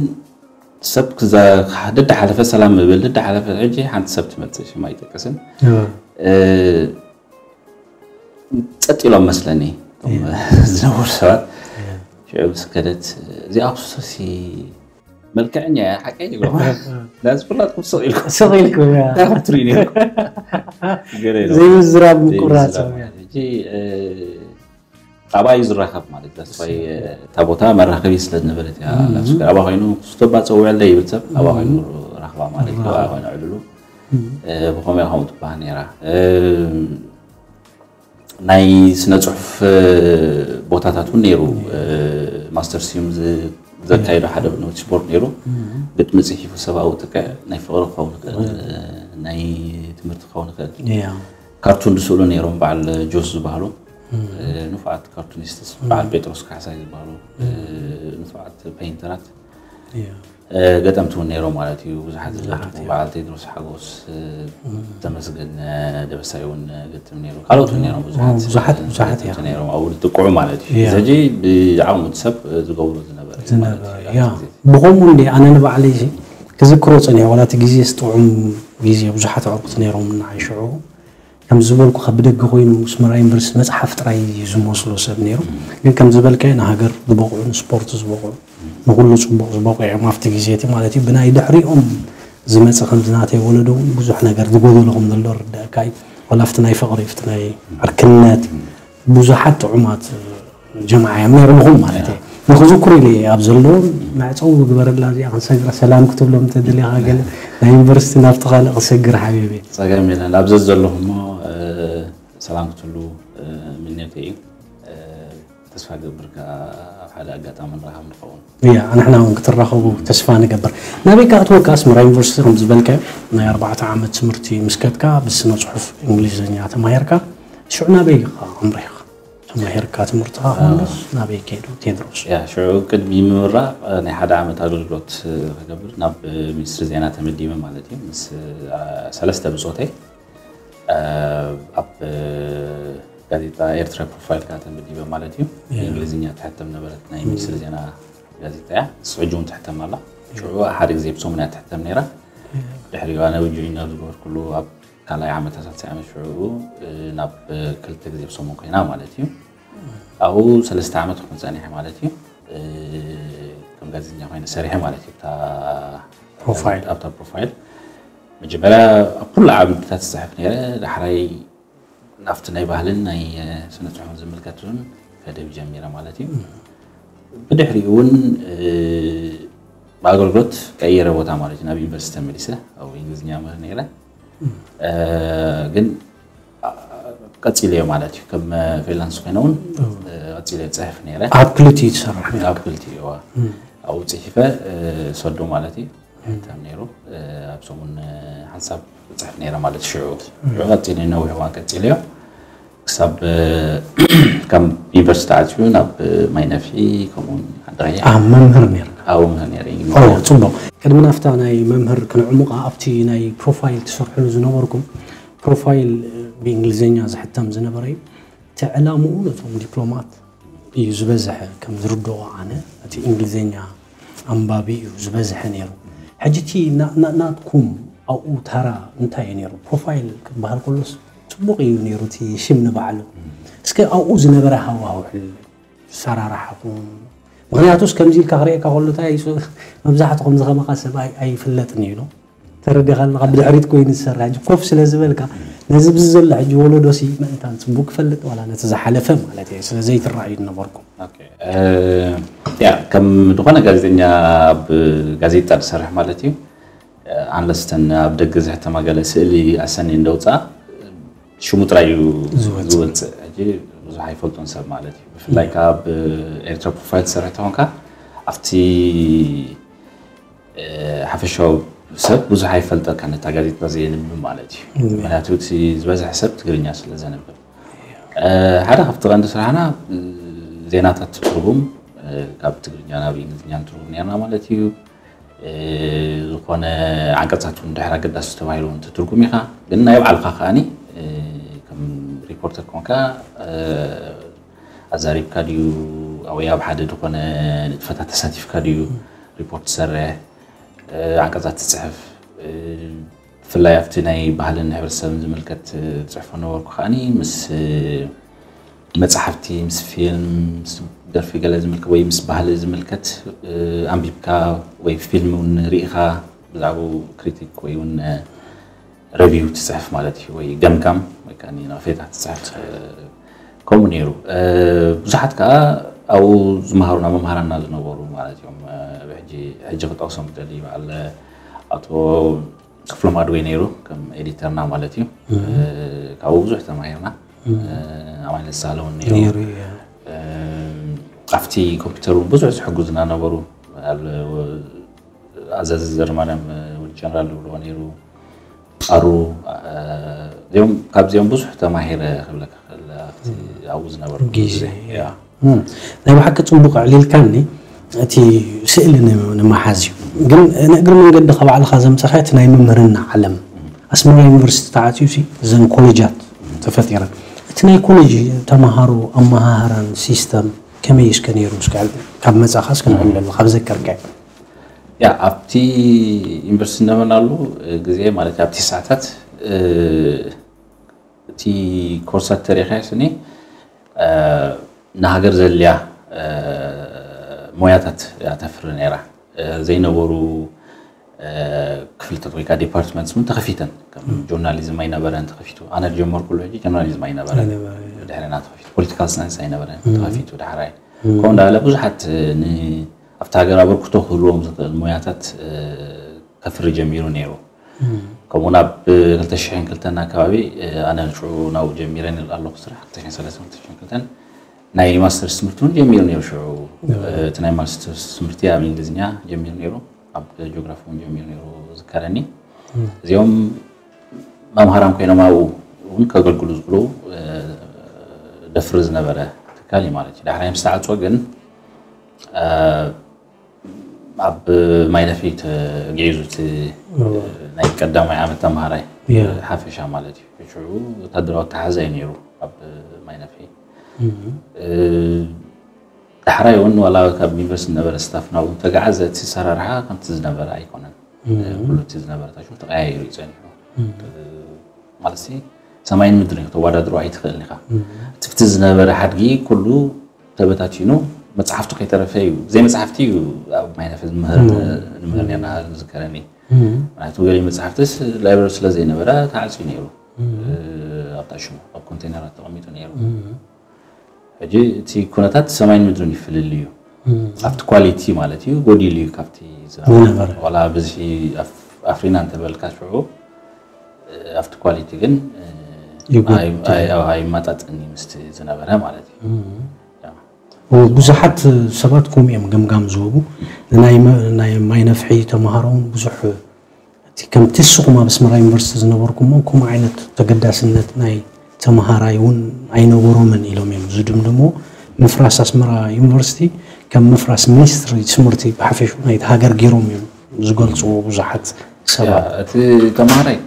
ሰብ ደዳ ሓለፈ ሰላም ምብል ደዳ ሓለፈ ሕጂ ሓንቲ ሰብ ትመፅእ ሽማ ኣይጠቅስን ጸጥ ኢሎም መስለኒ ዝነበሩ ሰባት ሽዑ ምስ ከደት እዚኣ ክሱሲ መልክዐኛ እያ ሓቀይ ይብሎ ናዚ ኩላትኩም ስቕ ኢልኩም ስቕ ኢልኩም እያ እንታይ ክትርኢ ነይርኩም ዘይምዝራብ ምቁራፅ ሕጂ ኣባይ ዝራኸብ ማለት ዳስፋይ እታ ቦታ መራኸቢ ስለ ዝነበረት እያ ላስኩ ኣባ ኮይኑ ክስቶባ ፀውዕለይ ይብል ሰብ ኣባ ኮይኑ ራኽባ ማለት ኣባ ኮይኑ ዕልሉ ብኸመይ ከምኡ ትበሃል ነይራ ናይ ስነ ፅሑፍ ቦታታት እውን ነይሩ ማስተር ሲዩም ዘካየዶ ሓደ ንውቲ ስፖርት ነይሩ ግጥሚ ፅሒፉ ሰብኣዊ ጥቅዕ ናይ ፍቅሪ ክኸውን ይኽእል ናይ ትምህርቲ ክኸውን ይኽእል ካርቱን ዝስእሉ ነይሮም በዓል ጆስ ዝበሃሉ ንፉዓት ካርቱኒስትስ በዓል ጴጥሮስ ካሕሳይ ዝበሃሉ ንፉዓት ፔይንተራት ገጠምቲ እውን ነይሮም ማለት እዩ ብዙሓት ዝገጥሙ በዓል ቴድሮስ ሓጎስ ተመስገን ደበሳይ እውን ገጥም ነይሩ ካልኦት እውን ነይሮም ብዙሓት ብዙሓት ብዙሓት ገጥምቲ ነይሮም ኣብኡ ዝጥቅዑ ማለት እዩ ሕጂ ብዓቕሙ ሰብ ዝገብሩ ዝነበረ እዩ ማለት እዩ ኣብቲ ግዜ። ብኸምኡ እንዲ ኣነ ንባዕለይ ክዝክሮ ፀኒሐ ዋላ እቲ ግዜ ስጥዑም ግዜ ብዙሓት ኣዕሩኽቲ ነይሮም ንዓይ ሽዑ ከም ዝበልኩኻ ብደገ ኮይኑ ኣስመራ ዩኒቨርሲቲ መፅሓፍ ጥራይ እዩ ዝመስሎ ሰብ ነይሩ ግን ከም ዝበልካዮ ንሃገር ዝበቕዑ ንስፖርት ዝበቕዑ ንኩሉ ፅቡቕ ዝበቑ እዮም ኣብቲ ግዜ እቲ ማለት እዩ ብናይ ድሕሪኦም ዝመፀ ከምዚ ናተይ ወለዶ እውን ብዙሕ ነገር ዝጎደሎ ከም ዘሎ ርዳእካ እዩ ወላ ኣብቲ ናይ ፍቕሪ ኣብቲ ናይ ዕርክነት ብዙሓት ጥዑማት ጀምዓ እዮም ነይርምኹም ማለት እየ ንክዝክሩ ኢለ እየ ኣብ ዘለዎም መዕፀዊ ግበረላ እዚኣ ክንሰግራ ሰላም ክትብሎም እንተደሊኻ ገለ ናይ ዩኒቨርሲቲ ናብቲ ካልእ ክሰግር ሓቢበ ፀገም የለን ኣብ ዘዘለኹ እሞ ሰላም ክትብሉ ምንዮተ እዩ ተስፋ ገብር ከዓ ኣብ ሓደ ኣጋጣሚ ንራኸብ ንኸውን እያ ንሕና እውን ክትራኸቡ ተስፋ ንገብር ናበይ ከኣ ትወካ ኣስመራ ዩኒቨርሲቲ ከም ዝበልካዮ ናይ ኣርባዕተ ዓመት ትምህርቲ ምስ ከድካ ብስነ ፅሑፍ እንግሊዝኛ ተማሂርካ ሽዑ ናበይ ኢኻ ኣምሪኻ ተማሂርካ ትምህርትኻ ኮንዶስ ናበይ ከይዱ ቴድሮስ ያ ሽዑ ቅድሚ ምምራቕ ናይ ሓደ ዓመት ኣገልግሎት ክገብር ናብ ሚኒስትሪ ዜና ተመዲበ ማለት እዩ ምስ ሰለስተ ብፆተይ ኣብ ጋዜጣ ኤርትራ ፕሮፋይል ከዓ ተመዲበ ማለት እዩ ብእንግሊዝኛ ትሕተም ነበረት ናይ ሚኒስትሪ ዜና ጋዜጣ እያ ንስ ሕጂ እውን ትሕተም ኣላ ሽዑ ሓደ ግዜ ብሰሙን እያ ትሕተም ነይራ ድሕሪኡ ኣነ ጆይን ኣብ ዝገበርኩሉ ኣብ ካልኣይ ዓመት ሳልሳይ ዓመት ሽዑ ናብ ክልተ ግዜ ብሰሙን ኮይና ማለት እዩ ኣብኡ ሰለስተ ዓመት ክኾን ፀኒሐ ማለት እዩ ከም ጋዜጠኛ ኮይነ ሰሪሐ ማለት እዩ ኣብታ ፕሮፋይል መጀመርያ ኣብ ኩሉ ዓምድታት ዝፅሕፍ ነይረ ዳሕራይ ናብቲ ናይ ባህልን ናይ ስነ ፅሑፍን ዝምልከት እውን ከደብ ጀሚረ ማለት እዩ ብድሕሪኡ እውን ብኣገልግሎት ቀይረ ቦታ ማለት እዩ ናብ ዩኒቨርሲቲ ተመሊሰ ኣብ እንግሊዝኛ ምህር ነይረ ግን ቀፂለዮ ማለት እዩ ከም ፍሪላንስ ኮይነ እውን ቀፂለዮ ፅሕፍ ነይረ ኣብ ክልቲኡ ትሰርሕ ኣብ ክልቲኡ ኣብኡ ፅሒፈ ሰዶ ማለት እዩ ሕተም ነይሩ ኣብ ሰሙን ሓንሳብ ፅሕፍ ነይረ ማለት ሽዑ ሽዑ ቀፂለ ነዊሕ እዋን ቀፂለዮ ክሳብ ከም ዩኒቨርሲቲ ኣትዩ ናብ ማይ ነፍሒ ከምኡውን ዓዲ ቀይሕ ኣብ መምህር ነርካ ኣብኡ ምህር ነይረ ኦ ጽቡቕ። ቅድሚ ናፍታ ናይ መምህር ክንዕሙቓ ኣብቲ ናይ ፕሮፋይል ትሰርሕሉ ዝነበርኩም ፕሮፋይል ብእንግሊዝኛ ዝሕተም ዝነበረ እዩ። እቲ ዕላምኡ ነቶም ዲፕሎማት እዩ ዝበዝሐ ከም ዝርድኦ ኣነ እቲ እንግሊዝኛ ኣንባቢ እዩ ዝበዝሐ ነይሩ። ሕጂ እቲ ናትኩም ኣብኡ ተራ እንታይ እዩ ነይሩ? ፕሮፋይል ክበሃል ከሎስ ጽቡቕ እዩ ነይሩ እቲ ሽም ንባዕሉ። እስከ ኣብኡ ዝነበረ ሃዋህው ሕል ሰራርሓኹም ምክንያቱስ ከምዚ ኢልካ ክርእየካ ከሎ እንታይ እዩ መብዛሕትኹም ዝኸመኻ ሰብ ኣይፍለጥን እዩ ተረዲኻ ኣለካ ብድሕሪት ኮይኑ ዝሰርሕ ሕጂ ኮፍ ስለ ዝበልካ ነዚ ብዚ ዘሎ ሕጂ ወለዶ ሲ ምእንታን ፅቡቅ ክፈልጥ ዋላ ነቲ ዝሓለፈ ማለት እየ ስለ ዘይትረኣዩ ነበርኩም ያ ከም ዝኾነ ጋዜጠኛ ኣብ ጋዜጣ ዝሰርሕ ማለት እዩ ኣንለስተን ኣብ ደገ ዝሕተማ ገለ ስእሊ ኣሰኒ እንደውፃ ሽሙ ጥራይ እዩ ዝወፅእ ሕጂ ብዙሕ ኣይፈልጦን ሰብ ማለት እዩ ብፍላይ ካብ ኤርትራ ፕሮፋይል ትሰርሕ ተኾንካ ኣብቲ ሓፈሻዊ ሰብ ብዙሕ ኣይፈልጠካ ነታ ጋዜጣ ዘየንብብ ማለት እዩ ምክንያቱ እቲ ዝበዝሐ ሰብ ትግርኛ ስለ ዘንብብ ሓደ ካብቲ ቀንዲ ስራሕና ዜናታት ትትርጉም ካብ ትግርኛ ናብ እንግሊዝኛ ንትርጉም ነርና ማለት እዩ ዝኾነ ዓንቀፃት እውን ድሕር ኣገዳሲ ተባሂሉ እውን ትትርጉም ኢኻ ግን ናይ ባዕልካ ከዓኒ ከም ሪፖርተር ኮንካ ኣዛሪብካ ድዩ ወይ ኣብ ሓደ ዝኾነ ንጥፈታት ተሳቲፍካ ድዩ ሪፖርት ትሰርሕ ዓንቀፃት ትፅሕፍ ብፍላይ ኣብቲ ናይ ባህልን ሕብረተሰብን ዝምልከት ፅሕፎ ነበርኩ ከዓኒ ምስ መፅሓፍቲ ምስ ፊልም ምስ ደርፊ ገለ ዝምልከት ወይ ምስ ባህሊ ዝምልከት ኣንቢብካ ወይ ፊልም እውን ርኢኻ ብዛዕባኡ ክሪቲክ ወይ እውን ረቪው ትፅሕፍ ማለት እዩ ወይ ገምጋም ወይ ከዓ ነቐፌታ ትፅሕፍ ከምኡ ነይሩ ብዙሓት ከዓ ኣብኡ ዝመሃሩና መምሃራና ዝነበሩ ማለት እዮም ሕጂ ክጠቕሶም ደሊ በዓል ኣቶ ክፍሎም ኣድወይ ነይሩ ከም ኤዲተርና ማለት እዩ ካብኡ ብዙሕ ተማሂርና ኣማን ሳለ እውን ነይሩ ኣብቲ ኮምፒውተር እውን ብዙሕ ዝሕግዙና ነበሩ ኣዘዚ ዘርማርያም ወዲ ጀነራል ዝብልዎ ነይሩ ኣሩ እዚኦም ካብዚኦም ብዙሕ ተማሂረ ክብለካ ክእል ኣብቲ ኣብኡ ዝነበሩ ግዜ ናይ ብሓቂ ፅቡቅ ኣዕሊልካኒ እቲ ስእሊ ንምሓዝ እዩ ግን ንእግሪ መንገዲ ካብ ባዕልካ ዘምፀኻ እቲ ናይ ምምህርና ዓለም ኣስመራ ዩኒቨርሲቲ ተዓፅዩ እዘን ኮሌጃት ተፈጢረን እቲ ናይ ኮሌጅ ተምሃሮ ኣመሃህራን ሲስተም ከመይ እስከ ነይሩ ካብ መፃኻ እስከ ንዕለሉ ካብ ዘከርካዮ ያ ኣብቲ ዩኒቨርሲቲ ነበርናሉ ግዜ ማለት ኣብቲ ሰዓታት እቲ ኮርሳት ተሪኻዮ ስኒ ንሃገር ዘድልያ ሞያታት እያ ተፍሪ ነይራ ዘይነበሩ ክፍልታት ወይ ከዓ ዲፓርትመንትስ እውን ተኸፊተን ከም ጆርናሊዝም ኣይነበረን ተኸፊቱ ኣነ ዝጀመርኩሉ ሕጂ ጆርናሊዝም ኣይነበረን ድሕርና ተኸፊቱ ፖለቲካል ሳይንስ ኣይነበረን ተኸፊቱ ዳሕራይ ከምኡ እንዳለ ብዙሓት ኣብቲ ሃገር ኣበርክቶ ክህልዎም ዝኽእል ሞያታት ከፍሪ ጀሚሩ ነይሩ ከምኡ ናብ ክልተ ሽሕን ክልተን ኣካባቢ ኣነ ሽዑ ናብኡ ጀሚረ ኣለኹ ስራሕ ክልተ ሽሕን ሰለስተን ክልተ ሽሕን ክልተን ናይ ማስተርስ ትምህርቲ እውን ጀሚሩ ነይሩ ሽዑ እቲ ናይ ማስተርስ ትምህርቲ ኣብ እንግሊዝኛ ጀሚሩ ነይሩ ኣብ ጂኦግራፊ እውን ጀሚሩ ነይሩ ዝከረኒ እዚኦም መምሃራን ኮይኖም ኣብኡ እውን ከገልግሉ ዝኽእሉ ደፍሪ ዝነበረ ትካል እዩ ማለት እዩ ዳሕራይ ምስ ተዓፅወ ግን ኣብ ማይነፊ ተገይዙ እቲ ናይ ቀዳማይ ዓመት ተምሃራይ ሓፈሻ ማለት እዩ ሽዑ ወታደራዊ ኣተሓዛ እዩ ነይሩ ኣብ ማይነፊ ዳሕራይ እውን ዋላ ካብ ዩኒቨርሲቲ ዝነበረ ስታፍ ናብኡ ተጋዓዘ እቲ ሰራርሓ ከምቲ ዝነበረ ኣይኮነን ኩሉ እቲ ዝነበረ ታሽሙ ተቀያይሩ እዩ ፀኒሑ ማለት ሰማይን ምድርን ተወዳድሮ ኣይትኽእልን ኢኻ ትብቲ ዝነበረ ሓድጊ ኩሉ ተበታቲኑ መፅሓፍቱ ከይተረፈ እዩ ዘይ መፅሓፍቲ እዩ ኣብ ማይነፈ ዝምህር ንምህር ነርና ዝከረኒ ምክንያቱ ገሊ መፅሓፍትስ ላይብረሪ ስለ ዘይነበረ ተዓፅዩ ነይሩ ኣብታ ሽሙ ኣብ ኮንቴነራት ተቐሚጡ ነይሩ ሕጂ እቲ ኩነታት ሰማይን ምድርን ይፍልል እዩ ኣብቲ ኳሊቲ ማለት እዩ ጎዲሉ እዩ ካብቲ ዝነበረ ዋላ ብዝሒ ኣፍሪና እንተበልካ ሽዑ ኣብቲ ኳሊቲ ግን ኣይማጣጥን ምስቲ ዝነበረ ማለት እዩ ብዙሓት ሰባት ከምኡ እዮም ገምጋም ዝህቡ ናይ ማይ ነፍሒ ተምሃሮ እውን ብዙሕ እቲ ከምቲ ንስኹም ኣብ ኣስመራ ዩኒቨርሲቲ ዝነበርኩሞ ከምኡ ዓይነት ተገዳስነት ናይ ተምሃራይ እውን ኣይነበሮምን ኢሎም እዮም ዝድምድምዎ። ምፍራስ ኣስመራ ዩኒቨርሲቲ ከም ምፍራስ ሚኒስትሪ ትምህርቲ ብሓፈሽኡ ናይቲ ሃገር ገይሮም እዮም ዝገልፅዎ ብዙሓት ሰባት። እቲ ተምሃራይ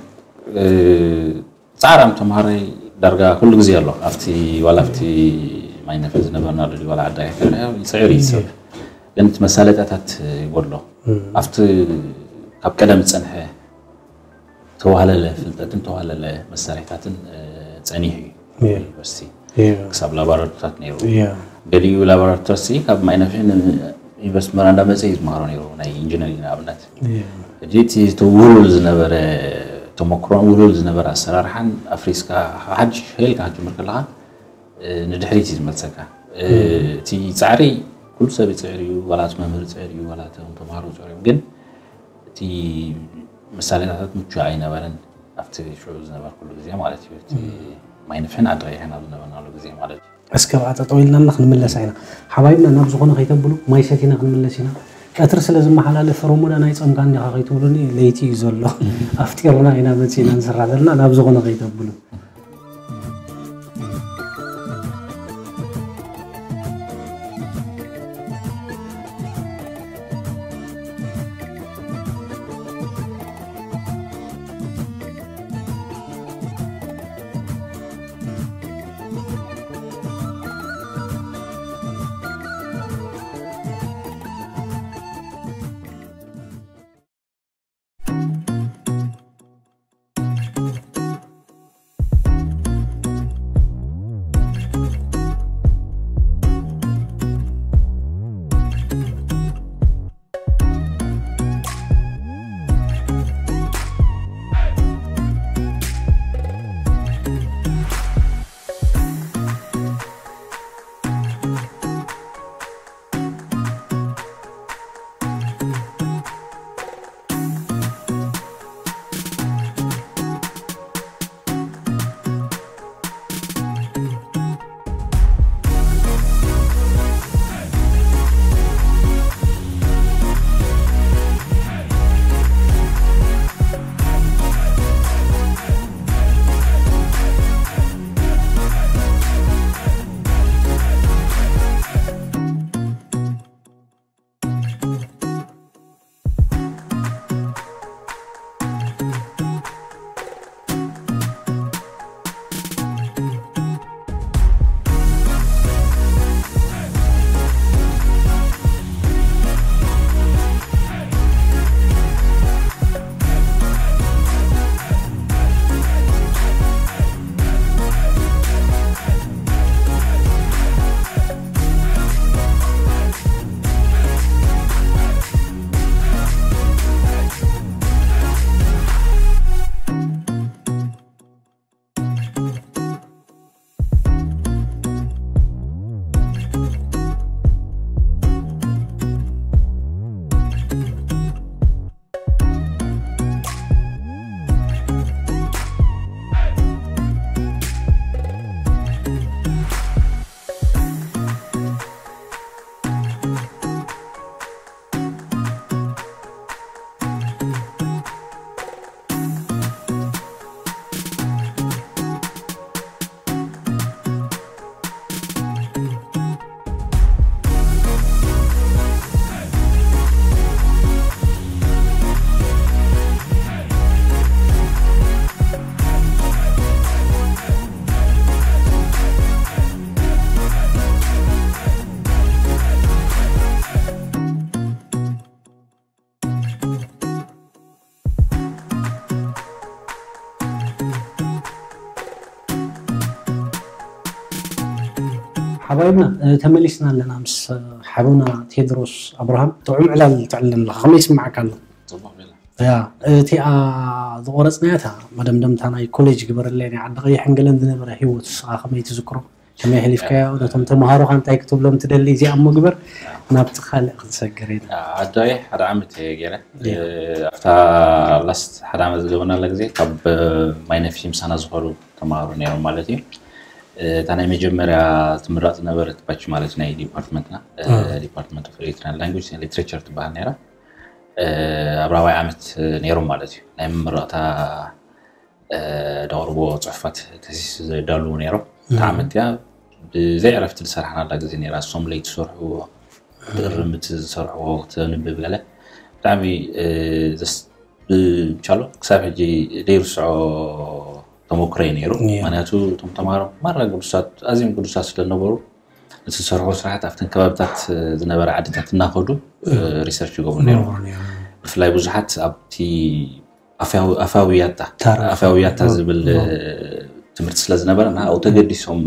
ፃዕራም ተምሃራይ ዳርጋ ኩሉ ግዜ ኣሎ ኣብቲ ዋላ ኣብቲ ማይነፈ ዝነበርና ዶ ዋላ ዓዳይ ይፅዕር ይሰብ ግን እቲ መሳለጣታት ይጎድሎ ኣብቲ ካብ ቀደም ዝፀንሐ ተዋህለለ ፍልጠትን ተዋህለለ መሳሪሕታትን ፀኒሑ እዩ ዩኒቨርሲቲ ክሳብ ላቦራቶሪታት ነይሩ ገሊኡ ላቦራቶሪ ካብ ማይነፍሕን ኢንቨስትመራ እንዳመፀ እዩ ዝመሃሮ ነይሩ ናይ ኢንጂነሪንግ ንኣብነት ሕጂ እቲ ውሉል ዝነበረ ተመክሮን ውሉል ዝነበረ ኣሰራርሓን ኣፍሪስካ ሓድሽ ሄልካ ክትጅምር ከለካ ንድሕሪት እዩ ዝመልሰካ እቲ ፃዕሪ ኩሉ ሰብ ይፅዕር እዩ ዋላ መምህር ይፅዕር እዩ ዋላ ተምሃሮ ይፅዕር እዮም ግን እቲ መሳለጣታት ምቹ ኣይነበረን ኣብቲ ሽዑ ዝነበርኩሉ ግዜ ማለት እዩ እቲ ማይ ንፍሕን ዓዲ ቀይሕን ኣብ ዝነበርናሉ ግዜ ማለት እዩ እስከ ብኣ ጠጠው ኢልና ክንምለሳ ኢና ሓባይብና ናብ ዝኾነ ከይተብሉ ማይ ሰቲና ክንምለስ ኢና ቀትሪ ስለ ዝመሓላለፍ ረሞዳን ኣይፀምካን ዲኻ ከይትብሉኒ ለይቲ እዩ ዘሎ ኣፍጢርና ኢና መፂና ንስራሕ ዘለና ናብ ዝኾነ ከይተብሉ ሓባይብና ተመሊስና ኣለና ምስ ሓውና ቴድሮስ ኣብርሃም ጥዑም ዕላል ትዕልል ኣለካ ከመይ ይስምዓካ ኣሎ ያ እቲኣ ዝቆረፅናያ እታ መደምደምታ ናይ ኮሌጅ ግበረለይ ናይ ዓዲ ቀይሕን ገለን ዝነበረ ሂወት ስኻ ከመይ ትዝክሮ ከመይ ኣሕሊፍካዮ ነቶም ተምሃሮኻ እንታይ ክትብሎም ትደሊ እዚኣ እሞ ግበር ናብቲ ካልእ ክንሰግር ኢና ኣዶይ ሓደ ዓመት እየ ገይረ ኣብታ ላስት ሓደ ዓመት ዝገበርናላ ግዜ ካብ ማይነፊ ምሳና ዝኾኑ ተምሃሮ ነይሮም ማለት እዩ እታ ናይ መጀመርያ ትምረቕ ዝነበረት ባች ማለት ናይ ዲፓርትመንትና ዲፓርትመንት ኦፍ ኤሪትራን ላንጉጅ ሊትሬቸር ትበሃል ነይራ ኣብ ራባይ ዓመት ነይሮም ማለት እዩ ናይ ምምረቕታ ደቕርቦ ጽሑፋት ተሲስ ዘዳልዉ ነይሮም። እታ ዓመት እያ ብዘይ ዕረፍቲ ዝሰራሕናላ ግዜ ነይራ። እሶም ለይቲ ዝሰርሕዎ፣ ክትእርም እቲ ዝሰርሕዎ፣ ክተንብብ ገለ ብጣዕሚ ብቻሎ ክሳብ ሕጂ ዘይርስዖ ተመክሮየ ነይሩ። ምክንያቱ እቶም ተምሃሮ ማራ ግዱሳት፣ ኣዝዮም ግዱሳት ስለዝነበሩ፣ እቲ ዝሰርሕዎ ስራሓት ኣብተን ከባብታት ዝነበረ ዓድታት እናኸዱ ሪሰርች ይገብሩ ነይሮም። ብፍላይ ብዙሓት ኣብቲ ኣፋዊ ያታ ኣፋዊ ያታ ዝብል ትምህርቲ ስለ ዝነበረ፣ ንዓኡ ተገዲሶም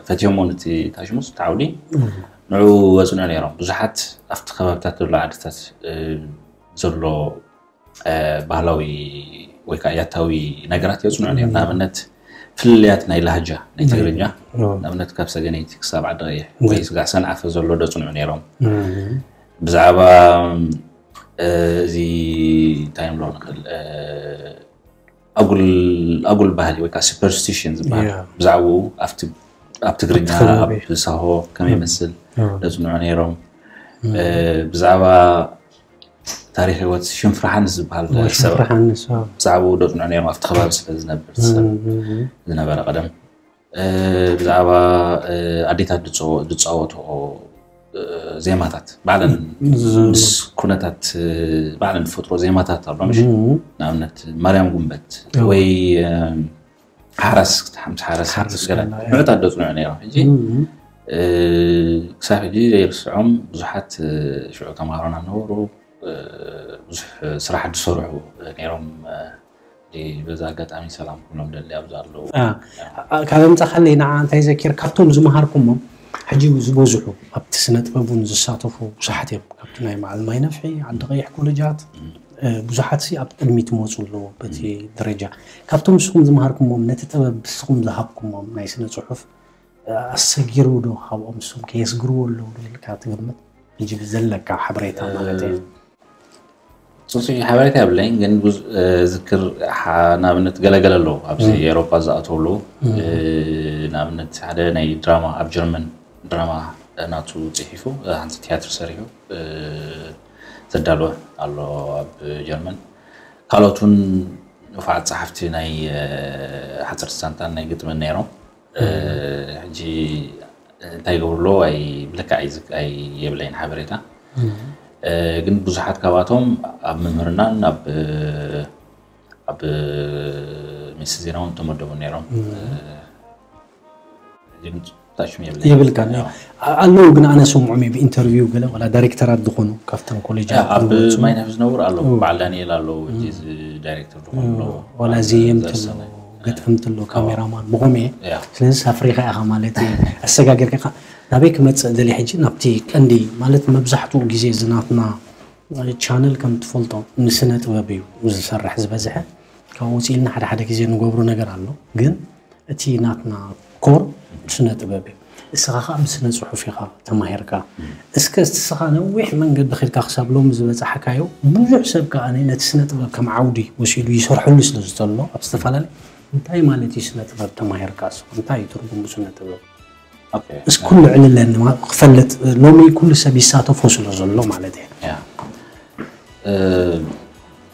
ፈትዮሞ ነቲ ታሽሙስ፣ እቲ ዓውዲ ንዕኡ ወጽንዑ ነይሮም። ብዙሓት ኣብቲ ከባብታት ዘሎ ዓድታት ዘሎ ባህላዊ ወይ ከዓ ያታዊ ነገራት የጽንዑ ነይሮም። ንኣብነት ፍልልያት ናይ ላህጃ ናይ ትግርኛ፣ ንኣብነት ካብ ሰገነይቲ ክሳብ ዓዲ ቀይሕ ወይ ስጋዕ ሰንዓፈ ዘሎ ደጽንዑ ነይሮም። ብዛዕባ እዚ እንታይ ንብሎ ንኽእል፣ ኣጉል ኣጉል ባህሊ ወይ ከዓ ሱፐርስቲሽን ዝበሃል፣ ብዛዕባኡ ኣብ ትግርኛ ኣብ ሳሆ ከመይ ይመስል ደጽንዑ ነይሮም። ብዛዕባ ታሪኽ ህይወት ሽንፍራሓንስ ዝበሃል ሰብ፣ ብዛዕባኡ ደጽንዑ ነይሮም። ኣብቲ ከባቢ ስለ ዝነብር ሰብ ዝነበረ ቀደም፣ ብዛዕባ ኣዴታት ዝጻወትኦ ዜማታት ባዕለን ምስ ኩነታት ባዕለን ዝፈጥሮ ዜማታት ኣሎ፣ ምሽ? ንኣብነት ማርያም ጉንበት ወይ ሓራስ፣ ምስ ሓራስ ገለ ንዑታት ደጽንዑ ነይሮም። ሕጂ ክሳብ ሕጂ ዘይርስዖም ብዙሓት ሽዑ ተምሃሮና ነበሩ። ብዙሕ ስራሕ ዝሰርሑ ነይሮም። በዛ ኣጋጣሚ ሰላም ኩሎም ደሊ ኣብዚ ኣለዉ። ካብ ኣምጻኻለይ ንዓ እንታይ ዘኪር፣ ካብቶም ዝመሃርኩሞም ሕጂ ዝበዝሑ ኣብቲ ስነ ጥበብ እውን ዝሳተፉ ብዙሓት እዮም። ካብቲ ናይ መዓል ማይ ነፍሒ፣ ዓዲ ቀይሕ ኮሌጃት ብዙሓት ሲ ኣብ ቅድሚት መፁ ኣለዉ በቲ ደረጃ። ካብቶም ንስኹም ዝመሃርኩሞም ነቲ ጥበብ ንስኹም ዝሃብኩሞም ናይ ስነ ጽሑፍ ኣሰጊሩ ዶ ካብኦም ንሶም ከየስግርዎ ኣለዉ ዶ ኢልካ ትግምት? ሕጂ ብዘለካ ሓበሬታ ማለት እዩ። ጽጹይ ሓበሬታ የብለይን፣ ግን ዝክር ንኣብነት ገለገለ ኣለዉ ኣብዚ ኤሮፓ ዝኣተዉ ኣለዉ። ንኣብነት ሓደ ናይ ድራማ ኣብ ጀርመን ድራማ ናቱ ጽሒፉ ሓንቲ ትያትር ሰሪሑ ዘዳለወ ኣሎ ኣብ ጀርመን። ካልኦት እውን ንፉዓት ጸሓፍቲ ናይ ሓጸርቲ ዛንታን ናይ ግጥምን ነይሮም። ሕጂ እንታይ ይገብሩ ኣለዉ ኣይ ብልክዕ ኣይ የብለይን ሓበሬታ። ግን ብዙሓት ካብኣቶም ኣብ ምምህርናን ኣብ ኣብ ሚኒስትሪ ዜና እውን ተመደቡ ነይሮም። የብልካ ኣለዉ፣ ግን ኣነ ሰምዖም ብኢንተርቪው ገለ ዋላ ዳይሬክተራት ዝኾኑ ካብተን ኮሌጃት ኣብ ማይነፍ ዝነብሩ ኣለዉ። በዓል ዳንኤል ኣለዉ፣ እዚ ዳይሬክተር ዝኾኑ ኣለዉ። ዋላ ዘየምቲ ኣለዉ፣ ገጠምቲ ኣለዉ፣ ካሜራማን ብኸምኡ እየ። ስለዚ ኣፍሪኻ ኢኻ ማለት እዩ፣ ኣሰጋገርካ ኢኻ። ናበይ ክመጽእ ደልየ ሕጂ ናብቲ ቀንዲ ማለት መብዛሕትኡ ግዜ ዝናትና ቻነል ከም ትፈልጦ ንስነ ጥበብ እዩ ዝሰርሕ ዝበዝሐ። ካብኡ ውፅእ ኢልና ሓደ ሓደ ግዜ ንገብሮ ነገር ኣሎ፣ ግን እቲ ናትና ኮር ስነ ጥበብ እዩ። እስኻ ከዓ ምስ ስነ ፅሑፍ ኢኻ ተማሂርካ። እስከ እስኻ ነዊሕ መንገዲ ኺድካ ክሳብ ሎሚ ዝበፃሕካዮ ብዙሕ ሰብ ከዓ ነቲ ስነ ጥበብ ከም ዓውዲ ወሲዱ ይሰርሐሉ ስለ ዝተሎ ኣብ ዝተፈላለየ እንታይ ማለት እዩ ስነ ጥበብ ተማሂርካ እስኻ እንታይ እዩ ትርጉሙ ስነ ጥበብ? እስኩሉ ዕልለኒ ክፈልጥ ሎሚ ኩሉ ሰብ ይሳተፎ ስለ ዘሎ ማለት እየ።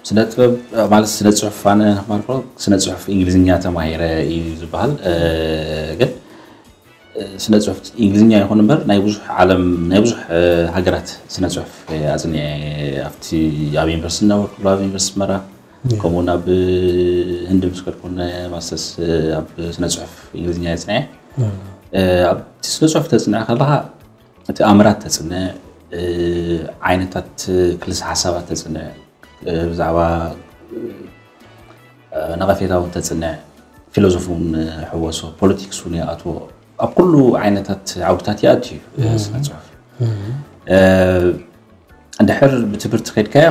ስነ ጥበብ ማለት ስነ ፅሑፍ ኣነ ማርኮ ስነ ፅሑፍ እንግሊዝኛ ተማሂረ እዩ ዝበሃል። ግን ስነ ፅሑፍ እንግሊዝኛ ይኹን እምበር ናይ ብዙሕ ዓለም ናይ ብዙሕ ሃገራት ስነ ፅሑፍ ኣፅኒዐ ኣብቲ ኣብ ዩኒቨርሲቲ ነበርኩሉ ኣብ ዩኒቨርሲቲ ኣስመራ ከምኡ ናብ ህንዲ ምስ ከድኩ ማስተርስ ኣብ ስነ ፅሑፍ እንግሊዝኛ የፅንዐ። ኣብቲ ስነ ፅሑፍ ተፅንዐ ከለካ እቲ ኣምራት ተፅንዕ፣ ዓይነታት ክልሰ ሓሳባት ተፅንዕ፣ ብዛዕባ ነቐፌታ እውን ተፅንዕ፣ ፊሎዞፊ እውን ሕወሶ፣ ፖለቲክስ እውን ይኣትዎ። ኣብ ኩሉ ዓይነታት ዓውድታት ይኣቱ እዩ ስነ ፅሑፍ። ድሕር ብትምህርቲ ከድካዮ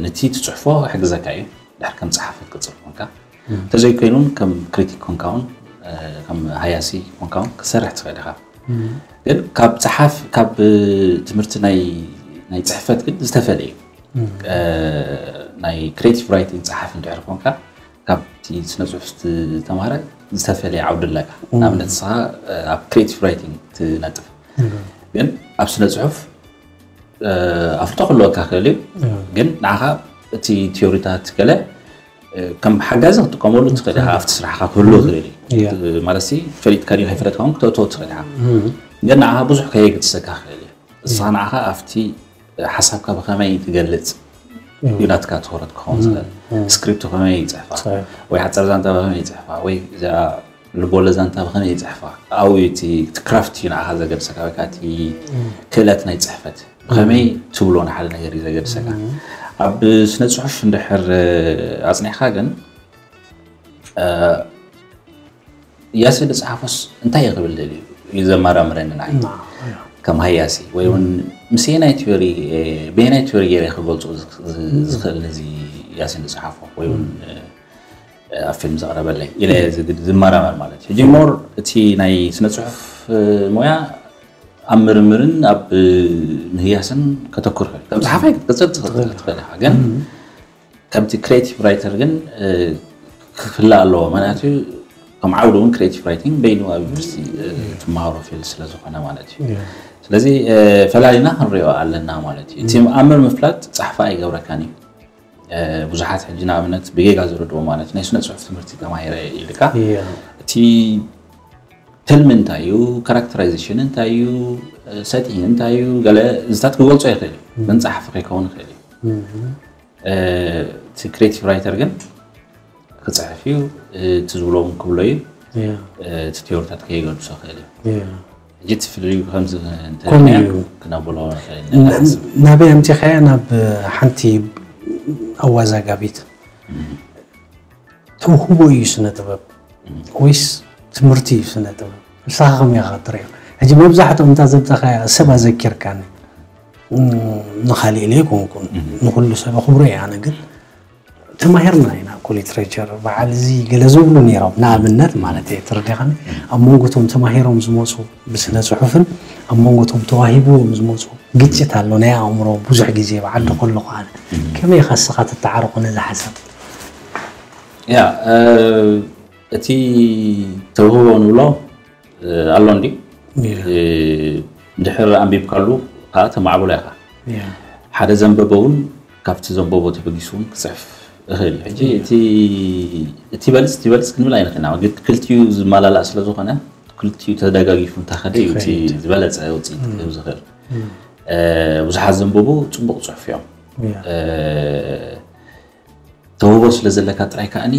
ነቲ ትፅሕፎ ሕግዘካ እዩ። ድሕር ከም ፀሓፊ ክትቅፅል ኮንካ እንተዘይኮይኑን ከም ክሪቲክ ኮንካ እውን ከም ሃያሲ ኮንካ እውን ክትሰርሕ ትኽእል ኢኻ። ግን ካብ ፀሓፍ ካብ ትምህርቲ ናይ ናይ ፅሕፈት ግን ዝተፈለየ ናይ ክሬቲቭ ራይቲንግ ፀሓፍ እንድሕር ኮንካ ካብቲ ስነ ፅሑፍ ዝተማሃረ ዝተፈለየ ዓውዲ ኣለካ። ንኣብነት ንስኻ ኣብ ክሬቲቭ ራይቲንግ ትነጥፍ ግን ኣብ ስነ ፅሑፍ ኣፍልጦ ክህልወካ ክእል እዩ። ግን ንዓኻ እቲ ቲዮሪታት ገለ ከም ሓጋዚ ክትጥቀመሉ ትኽእል ኢኻ። ኣብቲ ስራሕካ ክህሉ ይኽእል እዩ። ማለት ሲ ፈሊጥካ ድዩ ከይፈለጥካ እውን ክተእትዎ ትኽእል ኢኻ። ግን ንዓኻ ብዙሕ ከየገድሰካ ክኽእል እዩ። ንስኻ ንዓኻ ኣብቲ ሓሳብካ ብኸመይ ትገልጽ እዩ ናትካ ትኹረት ክኸውን ዝኽእል። ስክሪፕቱ ከመይ ይጽሕፋ ወይ ሓጻር ዛንታ ብኸመይ ይጽሕፋ ወይ እዚኣ ልቦለድ ዛንታ ብኸመይ ይጽሕፋ ኣብኡ እቲ ክራፍት እዩ ንዓኻ ዘገድሰካ ወይ ከዓ እቲ ክእለት ናይ ጽሕፈት ብኸመይ ትብሎ ንሓደ ነገር እዩ ዘገድሰካ። ኣብ ስነ ጽሑፍ እንድሕር ኣጽኒሕካ ግን ያሲ ዝጸሓፎስ እንታይ እዩ ክብል ደልዩ እዩ ዘመራምረኒ ንዓይ ከም ሃያሲ ወይ እውን ምስየናይ ቲዮሪ በየናይ ቲዮሪ ገይረ ክገልጾ ዝኽእል ነዚ ያሲን ዝጸሓፎ ወይ እውን ኣብ ፊልም ዘቕረበለይ ኢለ ዝመራመር ማለት እዩ። ሕጂ ሞር እቲ ናይ ስነ ጽሑፍ ሞያ ኣብ ምርምርን ኣብ ምህያስን ከተኩር ከም ጸሓፋይ ክትቅጽል ትኽእል ኢኻ ግን ከምቲ ክሬቲቭ ራይተር ግን ክፍለ ኣለዎ። ምክንያቱ ከም ዓውዲ እውን ክሬቲቭ ራይቲንግ በይኑ ኣብ ዩኒቨርሲቲ ትመሃሮ ፊልድ ስለ ዝኾነ ማለት እዩ። ስለዚ ፈላሊና ክንሪኦ ኣለና ማለት እዩ። እቲ ኣምር ምፍላጥ ጸሓፋ ኣይገብረካን እዩ። ብዙሓት ሕጂ ንኣብነት ብጌጋ ዝረድዎ ማለት ናይ ስነ ጽሑፍ ትምህርቲ ተማሂረ ኢልካ እቲ ትልሚ እንታይ እዩ፣ ካራክተራይዜሽን እንታይ እዩ፣ ሰቲንግ እንታይ እዩ፣ ገለ እዚታት ክገልጾ ይኽእል እዩ። ግን ጸሓፊ ከይከውን ይኽእል እዩ። እቲ ክሬቲቭ ራይተር ግን ክጽሕፍ እዩ፣ እቲ ዝብሎ እውን ክብሎ እዩ። እቲ ቲዮሪታት ከየገድሶ ይኽእል እዩ። ሕጂ እቲ ፍልልዩ ከምዚ እንተኮነ እንተልናዮ እዩ። ክነብሎ ንኽእል ኢና ኢና ንሓስብ። ናበይ ኣምጺኻያ? ናብ ሓንቲ ኣዋዛጋቢት ተውህቦ እዩ ስነ ጥበብ ወይስ ትምህርቲ እዩ ስነ ጥበብ? ንስኻ ከመይ ኢኻ ትርእዮ? ሕጂ መብዛሕትኦም እንታ ዘምጻኻያ ሰብ ኣዘኪርካኒ። ንኻሊእ ኢለ ኣይኮንኩን፣ ንኹሉ ሰብ ኣኽብሮ እየ ኣነ፣ ግን ተማሂርና ኢና እኮ ሊትሬቸር በዓል እዚ ገለ ዝብሉ ነይሮም፣ ንኣብነት ማለት እየ፣ ተረዲኻኒ? ኣብ መንጎ እቶም ተማሂሮም ዝመፁ ብስነ ፅሑፍን ኣብ መንጎ እቶም ተዋሂብዎም ዝመፁ ግጭት ኣሎ ናይ ኣእምሮ ብዙሕ ግዜ ብዓዲ ከለኹ ኣነ። ከመይ ኢኻ እስኻ ትተዓረቑ ነዚ ሓሳብ? ያ እቲ ተውህቦ ንብሎ ኣሎ እንዲ ድሕር ኣንቢብካሉ ከዓ ተማዕብሎ ኢኻ። ሓደ ዘንበበ እውን ካብቲ ዘንበቦ ተበጊሱ እውን ክፅሕፍ እኽእል እዩ። ሕጂ እቲ በልፅ እቲ በልፅ ክንብል ኣይንኽእልና። ክልቲኡ ዝመላላእ ስለ ዝኾነ ክልቲኡ ተደጋጊፉ እንተኸደ እዩ እቲ ዝበለፀ ውፅኢት ክህብ ዝኽእል። ብዙሓት ዘንበቡ ፅቡቕ ፅሑፍ እዮም። ተውህቦ ስለ ዘለካ ጥራይ ከዓኒ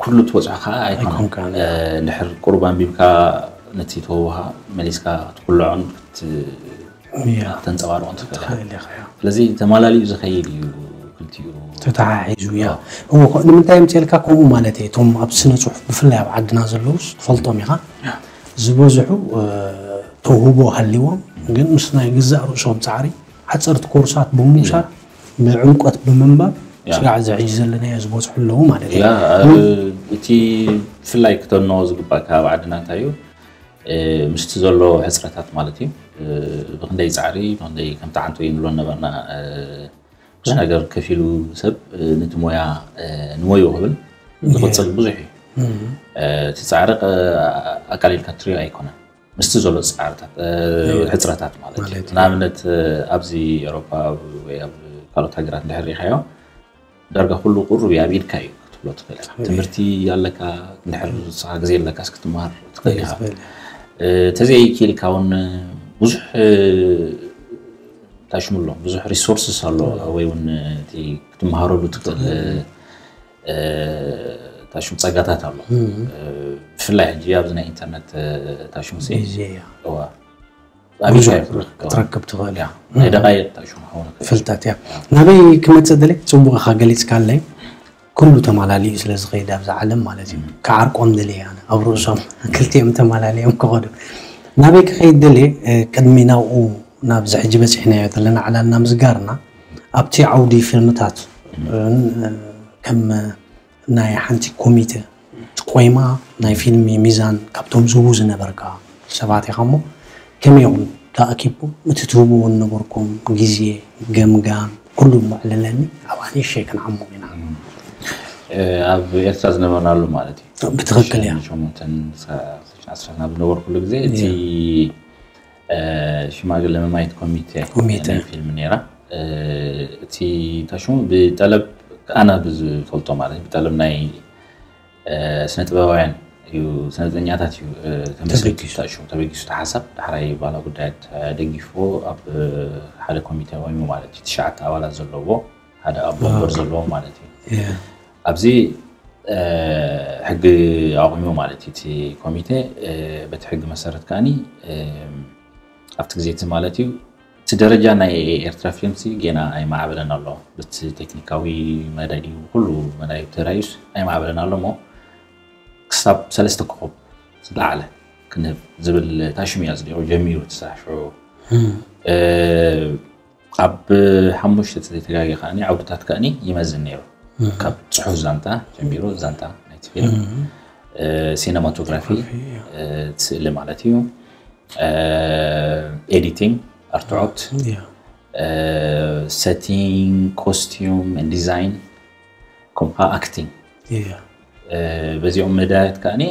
ኩሉ ትበፅሖ ከዓ ኣይኮነን። እንድሕር ቁሩብ ኣንቢብካ ነቲ ተውህቦኻ መሊስካ ክትኩልዖን ክተንፀባርቖን ትኽእል። ስለዚ ተማላሊኡ ዝኸይድ እዩ ክልቲኡ። ተተሓሒዙ እያ። እዎ፣ ንምንታይ የምፅኤልካ ከምኡ ማለት እየ። እቶም ኣብ ስነ ፅሑፍ ብፍላይ ኣብ ዓድና ዘለውስ ትፈልጦም ኢኻ። ዝበዝሑ ተውህቦ ሃልይዎም ግን ምስ ናይ ግዛእ ርእሶም ፃዕሪ ሓፀርቲ ኮርሳት ብምውሳድ ብዕምቆት ብምንባብ ስጋዕ እዚ ሕጂ ዘለናዮ ዝበፅሑ ኣለዉ ማለት እዩ። እቲ ብፍላይ ክተኖ ዝግባእ ከባቢ ዓድና እንታይ እዩ ምስቲ ዘሎ ሕፅረታት ማለት እዩ ብክንደይ ፃዕሪ ብክንደይ ከምቲ ዓንቶ እዩ ንብሎ ነበርና ብዙሕ ነገር ከፊሉ ሰብ ነቲ ሞያ ንሞዩ ክብል ዝቕፅል ብዙሕ እዩ እቲ ፃዕሪ ኣቃሊልካ ትሪኦ ኣይኮነን ምስቲ ዘሎ ፃዕርታት ሕፅረታት ማለት እዩ ንኣብነት ኣብዚ ኤሮፓ ወይ ኣብ ካልኦት ሃገራት እንድሕር ሪኢኻዮ ዳርጋ ኩሉ ቁሩብ እዩ ኣብ ኢድካ እዩ ክትብሎ ትኽእል ትምህርቲ ኣለካ እንድሕር ንስኻ ግዜ ኣለካስ ክትመሃር ትኽእል ኢኻ ተዘይኪኢልካ እውን ብዙሕ ታሽሙሎ ብዙሕ ሪሶርስስ ኣሎ ወይ እውን እቲ ክትመሃረሉ ትኽእል ታሽሙ ፀጋታት ኣሎ ብፍላይ ሕጂ ኣብዚ ናይ ኢንተርነት ታሽሙ ክትረክብ ትኽእል ናይ ደቃይቅ ታሽሙ ክኸውን ፍልጠት እያ ናበይ ክመፅእ ደለ ፅቡቅ ኢኻ ገሊፅካ ኣለይ ኩሉ ተማላሊኡ ስለ ዝኸይድ ኣብዛ ዓለም ማለት እዩ ክዓርቆም ደለ ኣነ ኣብ ርእሶም ክልቲኦም ተማላሊኦም ክኸዱ ናበይ ክኸይድ ደለ ቅድሚ ናብኡ ናብዚ ሕጂ በፂሕናዮ ዘለና ዕላልና ምስጋርና ኣብቲ ዓውዲ ፊልምታት ከም ናይ ሓንቲ ኮሚተ ቆይማ ናይ ፊልሚ ሚዛን ካብቶም ዝህቡ ዝነበርካ ሰባት ኢኻ እሞ ከመይ ኢኹም ተኣኪብኩም እቲ ትህብዎ ዝነበርኩም ግዜ ገምጋም ኩሉ እሞ ዕለለኒ ኣብኣ ንእሸይ ክንዓሙቕ ኢና ኣብ ኤርትራ ዝነበርናሉ ማለት እዩ ብትኽክል እያ ናብ ዝነበርኩሉ ግዜ እቲ ሽማግለ መማየት ኮሚቴ ኮሚቴ ፊልም ነራ እቲ ታሽሙ ብጠለብ ኣነ ብዝፈልጦ ማለት እዩ ብጠለብ ናይ ስነ ጥበባውያን እዩ፣ ስነ ጥበበኛታት እዩ ተመስሪቱ። ተበጊሱ ተሓሳብ ዳሕራይ ባህላ ጉዳያት ደጊፎ ኣብ ሓደ ኮሚቴ ወይሙ ማለት እዩ ትሽዓተ ኣባላት ዘለዎ ሓደ ኣቦ ወንበር ዘለዎ ማለት እዩ። ኣብዚ ሕጊ ኣቑሙ ማለት እዩ እቲ ኮሚቴ። በቲ ሕጊ መሰረት ከዓኒ ኣብቲ ግዜ እቲ ማለት እዩ እቲ ደረጃ ናይ ኤርትራ ፊልምሲ ጌና ኣይማዕበለን ኣሎ። ብቲ ቴክኒካዊ መዳይ ድዩ ኩሉ መዳይ ተራዩስ ኣይማዕበለን ኣሎ እሞ ክሳብ ሰለስተ ኮኾብ ዝለዓለ ክንህብ ዝብል ታሽሙ እዩ ኣጽዲቑ ጀሚሩ እቲ ስራሕ ሽዑ። ኣብ ሓሙሽተ ተዘይተጋጊ ከዓኒ ዓውድታት ከዓኒ ይመዝን ነይሩ። ካብ ጽሑፍ ዛንታ ጀሚሩ ዛንታ ናይቲ ፊልም፣ ሲነማቶግራፊ፣ ስእሊ ማለት እዩ፣ ኤዲቲንግ፣ ኣርትዖት፣ ሰቲንግ፣ ኮስቲዩም፣ ዲዛይን፣ ከምኡ ከዓ ኣክቲንግ። በዚኦም መዳያት ከዓኒ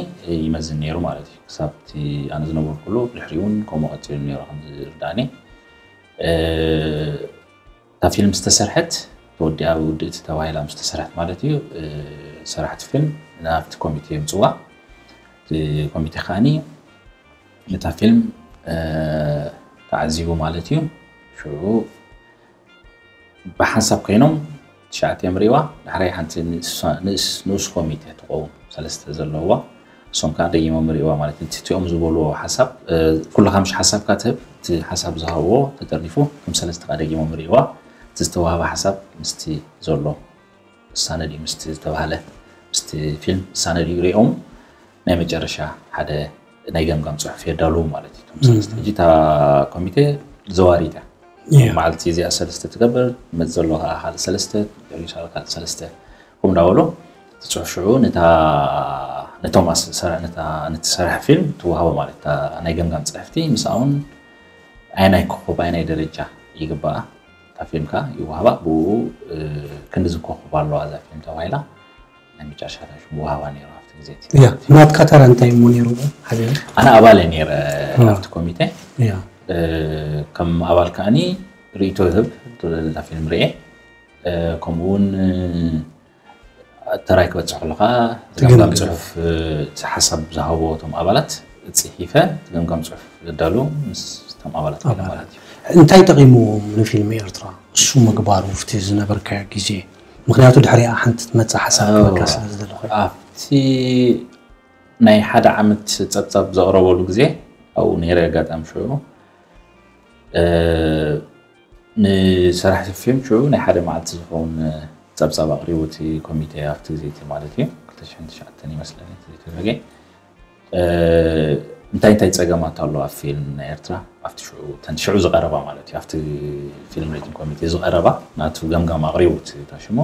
ይመዝን ነይሩ ማለት እዩ። ክሳብ እቲ ኣነ ዝነበርኩሉ ድሕሪኡ እውን ከምኡ ቀፂሉ ነይሩ ከም ዝርዳእኒ። እታ ፊልም ዝተሰርሐት ተወዲኣ ውድእቲ ተባሂላ ምስ ተሰርሐት ማለት እዩ። ሰራሕቲ ፊልም ናብቲ ኮሚቴ የምፅዋ። እቲ ኮሚቴ ከዓኒ ነታ ፊልም ተዓዚቡ ማለት እዩ። ሽዑ ብሓንሳብ ኮይኖም ትሽዓተ እዮም ሪእዋ። ዳሕራይ ሓንቲ ንእስ ኮሚቴ ትኸውን ሰለስተ ዘለዋ እሶም ከዓ ደጊሞም ሪእዋ ማለት እዩ። እቲኦም ዝበልዎ ሓሳብ ኩልካ ምሽ ሓሳብካ ትህብ፣ እቲ ሓሳብ ዝሃብዎ ተጠርኒፉ ከም ሰለስተ ከዓ ደጊሞም ሪእዋ። እቲ ዝተዋህበ ሓሳብ ምስቲ ዘሎ እሳነ ድዩ ምስቲ ዝተባህለ ምስቲ ፊልም እሳነ ድዩ ሪኦም ናይ መጨረሻ ሓደ ናይ ገምጋም ፅሑፍ የዳልዉ ማለት እዩ። ሕጂ እታ ኮሚቴ ዘዋሪት እያ። መዓልቲ እዚኣ ሰለስተ ትገብር መት ዘሎ ከዓ ካልእ ሰለስተ ሪሳል ካልእ ሰለስተ ኩም እንዳበሉ እቲ ፅሑፍ ሽዑ ነቶም ነቲ ሰራሕ ፊልም ትወሃቦ ማለት ናይ ገምጋም ፅሕፍቲ ምስኣውን ኣይናይ ኮኾብ ኣይናይ ደረጃ ይግባኣ። እታ ፊልም ከዓ ይወሃባ ብኡ ክንዲ ዝኮኽብ ኣለዋ እዛ ፊልም ተባሂላ ናይ መጨረሻ ሽሙ ወሃባ ነይሩ ኣብቲ ግዜ እቲ። ያ ናትካ ተራ እንታይ እሞ ነይሩ? ሓደ ኣነ ኣባል እየ ነይረ ኣብቲ ኮሚቴ። ያ ከም ኣባል ከዓኒ ርእይቶ ህብ እዛ ፊልም ርኤ ከምኡ እውን ተራይ ክበፅሕ ከለካ ገምጋም ፅሑፍ እቲ ሓሳብ ዝሃብዎ እቶም ኣባላት ፅሒፈ ገምጋም ፅሑፍ ዘዳሉ ምስ እቶም ኣባላት ኮይነ ማለት እዩ። እንታይ ጠቂምዎም ንፊልም ኤርትራ እሱ ምግባሩ ኣብቲ ዝነበርካዮ ግዜ? ምክንያቱ ድሕሪኣ ሓንቲ ትመፅእ ሓሳብ ክበካ ስለ ዝደለኹ። ኣብቲ ናይ ሓደ ዓመት ፀብፃብ ዘቕረበሉ ግዜ ኣብኡ ነይረ ኣጋጣሚ ሽዑ ንሰራሕቲ ፊልም ሽዑ ናይ ሓደ መዓልቲ ዝኸውን ፀብፃብ ኣቕሪቡ እቲ ኮሚቴ ኣብቲ ግዜ እቲ ማለት እዩ ክልተ ሽሕን ትሽዓተን ይመስለኒ ተዘይተጋገ እንታይ እንታይ ፀገማት ኣሎ ኣብ ፊልም ናይ ኤርትራ ኣብቲ ሽዑ እተን ሽዑ ዝቐረባ ማለት እዩ ኣብቲ ፊልም ሬቲንግ ኮሚቴ ዝቐረባ ናቱ ገምጋም ኣቕሪቡ እቲ ታሽሞ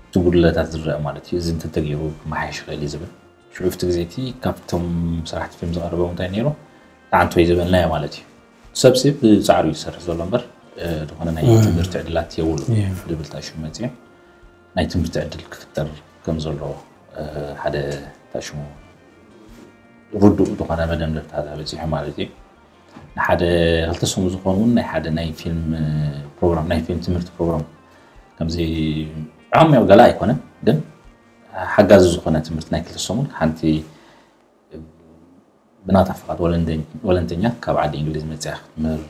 እቲ ጉድለታት ዝረአ ማለት እዩ እዚ እንተተገይሩ ክመሓየሽ ይኽእል እዩ ዝብል ሽዑ ኣብቲ ግዜ እቲ ካብቶም ስራሕቲ ፊልም ዝቐረቦም እንታይ ነይሩ ተዓንቶ እዩ ዝበልናዮ ማለት እዩ። ሰብሲ ብፃዕሩ እዩ ዝሰርሕ ዘሎ እምበር ዝኾነ ናይ ትምህርቲ ዕድላት የብሉ ድብል ታሽሙ መፅኡ ናይ ትምህርቲ ዕድል ክፍጠር ከም ዘሎ ሓደ ታሽሙ ርዱእ ዝኾነ መደምደምታ በፂሑ ማለት እዩ። ንሓደ ክልተ ሰሙ ዝኾን እውን ናይ ሓደ ናይ ፊልም ፕሮግራም ናይ ፊልም ትምህርቲ ፕሮግራም ከምዚ ዓሚቕ ገላ ኣይኮነን ግን ሓጋዚ ዝኾነ ትምህርቲ ናይ ክልተ ሰሙን ሓንቲ ብናታ ፍቓድ ወለንተኛ ካብ ዓዲ እንግሊዝ መፅያ ክትምህር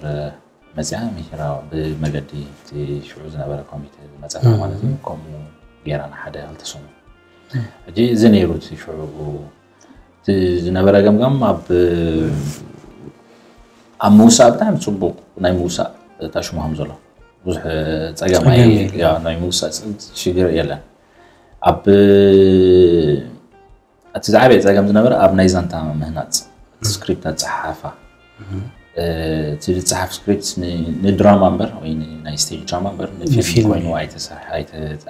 መፅያ ምሂራ ብመገዲ እቲ ሽዑ ዝነበረ ኮሚቴ ዝመፀና ማለት እዩ። ከምኡ ጌራ ንሓደ ክልተ ሰሙን ሕጂ እዚ ነይሩ እቲ ሽዑ እቲ ዝነበረ ገምጋም ኣብ ኣብ ምውሳእ ብጣዕሚ ፅቡቅ ናይ ምውሳእ ታሽሙ ከም ዘሎ ብዙሕ ፀገም ናይ ምውሳእ ሽግር የለን። ኣብ እቲ ዝዓበየ ፀገም ዝነበረ ኣብ ናይ ዛንታ ምህናፅ ስክሪፕት ኣፀሓሓፋ እቲ ዝፀሓፍ ስክሪፕት ንድራማ እምበር ወይ ናይ ስቴጅ ድራማ እምበር ንፊልም ኮይኑ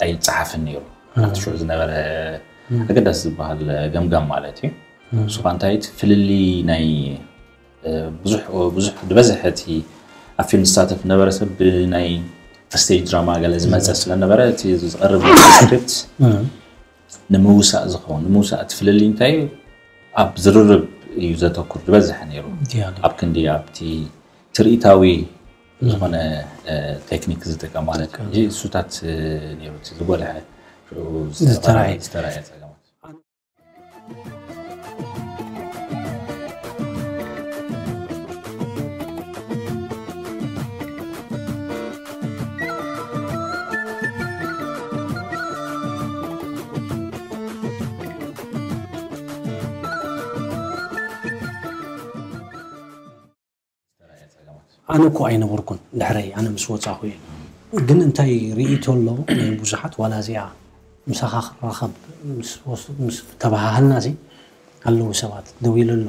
ኣይፀሓፍን ነይሩ። ኣብቲ ሽዑ ዝነበረ ኣገዳሲ ዝበሃል ገምጋም ማለት እዩ። ንሱ ከዓ እንታይ እቲ ፍልልይ ናይ ብዙሕ ብዙሕ ዝበዝሐ እቲ ኣብ ፊልም ዝሳተፍ ነበረ ሰብ ብናይ ስቴጅ ድራማ ገለ ዝመፀ ስለነበረ እቲ ዝቐርብ ስክሪፕት ንምውሳእ ዝኸውን ንምውሳእ እቲ ፍልልይ እንታይ እዩ ኣብ ዝርርብ እዩ ዘተኩር ዝበዝሐ ነይሩ። ኣብ ክንዲ ኣብቲ ትርኢታዊ ዝኾነ ቴክኒክ ዝጥቀም ማለት እዩ። እሱታት ነይሩ እቲ ዝጎልሐ ሽዑ ዝተረኣየ ጸገማት። ኣነ እኮ ኣይነበርኩን ድሕረይ ኣነ ምስ ወፃኹ እየ። ግን እንታይ ርእይቶ ኣሎ ናይ ብዙሓት ዋላ እዚኣ ምሳኻ ክራኸብ ምስ ተባሃሃልና ሲ ኣለዉ ሰባት ደው ኢሉ ኣሎ።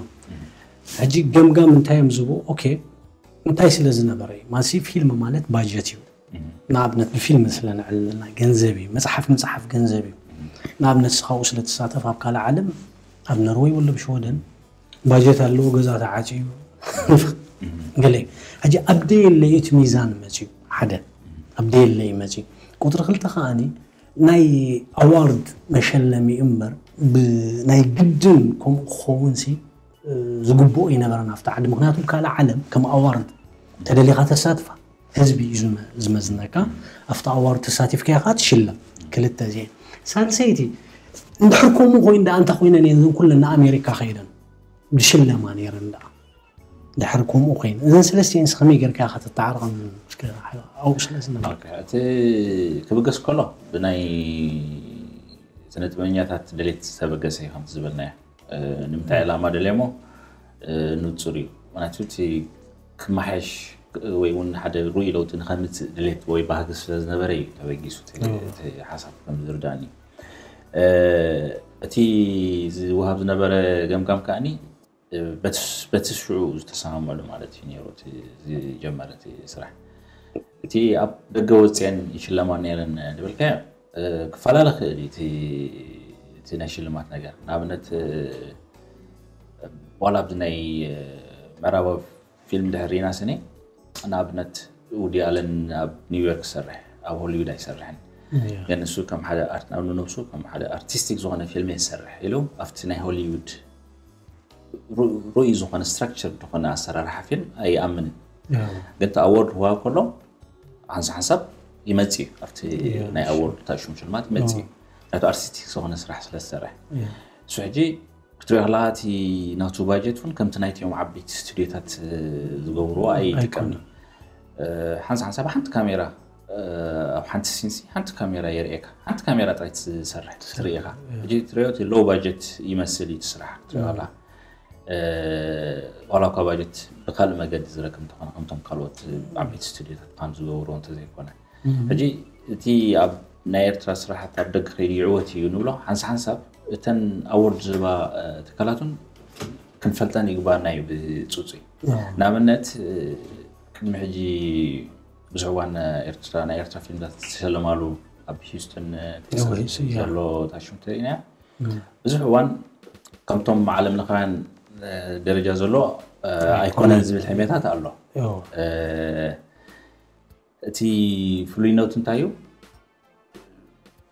ሕጂ ገምጋም እንታይ እዮም ዝብኡ? ኦኬ እንታይ ስለ ዝነበረ እዩ ማሲ ፊልም ማለት ባጀት እዩ። ንኣብነት ብፊልም ስለ ንዕልልና ገንዘብ እዩ። መፅሓፍ ምፅሓፍ ገንዘብ እዩ። ንኣብነት ስኻኡ ስለ ትሳተፍ ኣብ ካልእ ዓለም ኣብ ነርወይ ወለ ብሽወደን ባጀት ኣለዎ ገዛ ተዓፅዩ ገለ እዩ። ሕጂ ኣብ ደየለ እዩ እቲ ሚዛን መፅዩ ሓደ ኣብ ደየለ እዩ መፅዩ። ቁፅሪ ክልተ ከዓኒ ናይ ኣዋርድ መሸለሚ እምበር ብናይ ግድን ከምኡ ክኸውን ሲ ዝግብኦ ይነበረን ኣብቲ ዓዲ። ምክንያቱ ካልእ ዓለም ከም ኣዋርድ ተደሊኻ ተሳትፋ ህዝቢ እዩ ዝመዝነካ። ኣብቲ ኣዋርድ ተሳቲፍካ ኢኻ ትሽለም። ክልተ እዚአን። ሳልሰይቲ እንድሕር ከምኡ ኮይኑ ደኣ እንታይ ኮይነን እየን እዘን ኩለን ንኣሜሪካ ከይደን ዝሽለማ ነይረን ደኣ። ድሕር ከምኡ ኮይኑ እዘን ሰለስቲአን ከመይ ጌርካ ኢኻ ተተዓርቐን ኣብኡ ስለ ዝነበርካ። እቲ ክብገስ ከሎ ብናይ ስነ ጥበበኛታት ድሌት ዝተበገሰ እዩ ከምቲ ዝበልናዮ። ንምንታይ ዕላማ ደልየሞ ንፁር እዩ። ምክንያቱ እቲ ክመሓየሽ ወይ እውን ሓደ ርኡይ ለውጢ ንኸምፅእ ድሌት ወይ ባህጊ ስለ ዝነበረ እዩ ተበጊሱ እቲ ሓሳብ ከም ዝርዳእኒ። እቲ ዝወሃብ ዝነበረ ገምጋም ከዓኒ በቲ ሽዑ ዝተሰማመሉ ማለት እዩ ነይሩ እቲ ዝጀመረ እቲ ስራሕ። እቲ ኣብ ደገ ወፅአን ይሽለማ ነይረን ዝበልካዮ ክፈላለ ክእል እዩ እቲ ናይ ሽልማት ነገር። ንኣብነት ዋላ ኣብዚ ናይ ምዕራባዊ ፊልም ድሕር ሪና ስኒ ንኣብነት ውዲ ኣለን ኣብ ኒውዮርክ ይሰርሕ ኣብ ሆሊውድ ኣይሰርሕን። ግን ንሱ ከም ሓደ ንኣብነት ነብሱ ከም ሓደ ኣርቲስቲክ ዝኾነ ፊልም ይሰርሕ ኢሉ ኣብቲ ናይ ሆሊውድ ርኡይ ዝኾነ ስትራክቸር ዝኾነ ኣሰራርሓ ፊልም ኣይኣምንን። ግን እቲ ኣዎርድ ክወሃብ ከሎ ሓንሳ ሓንሳብ ይመጽእ እዩ ኣብቲ ናይ ኣዎርድ ታሽሙ ሽልማት ይመጽእ እዩ። ናቱ ኣርቲስቲክ ዝኾነ ስራሕ ስለ ዝሰርሕ እሱ ሕጂ ክትሪኦ ከለካ እቲ ናቱ ባጀት እውን ከምቲ ናይቲኦም ዓበይቲ ስቱዲዮታት ዝገብርዎ ኣይጥቀምን። ሓንሳ ሓንሳብ ሓንቲ ካሜራ ኣብ ሓንቲ ሲንሲ ሓንቲ ካሜራ የርእየካ። ሓንቲ ካሜራ ጥራይ ትሰርሕ ትርኢ ኢኻ። ሕጂ ትሪኦ እቲ ሎው ባጀት ይመስል እዩ እቲ ስራሕ ክትሪኦ ከለካ። ዋላ እኳ ባጀት ብካልእ መገዲ ዝረክብ እንተኾነ ከምቶም ካልኦት ዓበይቲ ስቱዲዮታት ምዃኑ ዝገብርዎ እንተዘይኮነ ሕጂ እቲ ኣብ ናይ ኤርትራ ስራሓት ኣብ ደገ ከይዱ ይዕወት እዩ ንብሎ ሓንሳ ሓንሳብ እተን ኣዎርድ ዝህባ ትካላት እውን ክንፈልጠን ይግባና እዩ ብፅፁይ። ንኣብነት ቅድሚ ሕጂ ብዙሕ እዋን ኤርትራ ናይ ኤርትራ ፊልምታት ዝተሸለማሉ ኣብ ሂውስተን ቴክሳስ ዘሎ ታሽሙ ተሪእናያ ብዙሕ እዋን ከምቶም ዓለም ለኻውያን ደረጃ ዘሎ ኣይኮነን ዝብል ሕሜታት ኣሎ። እቲ ፍሉይነቱ እንታይ እዩ?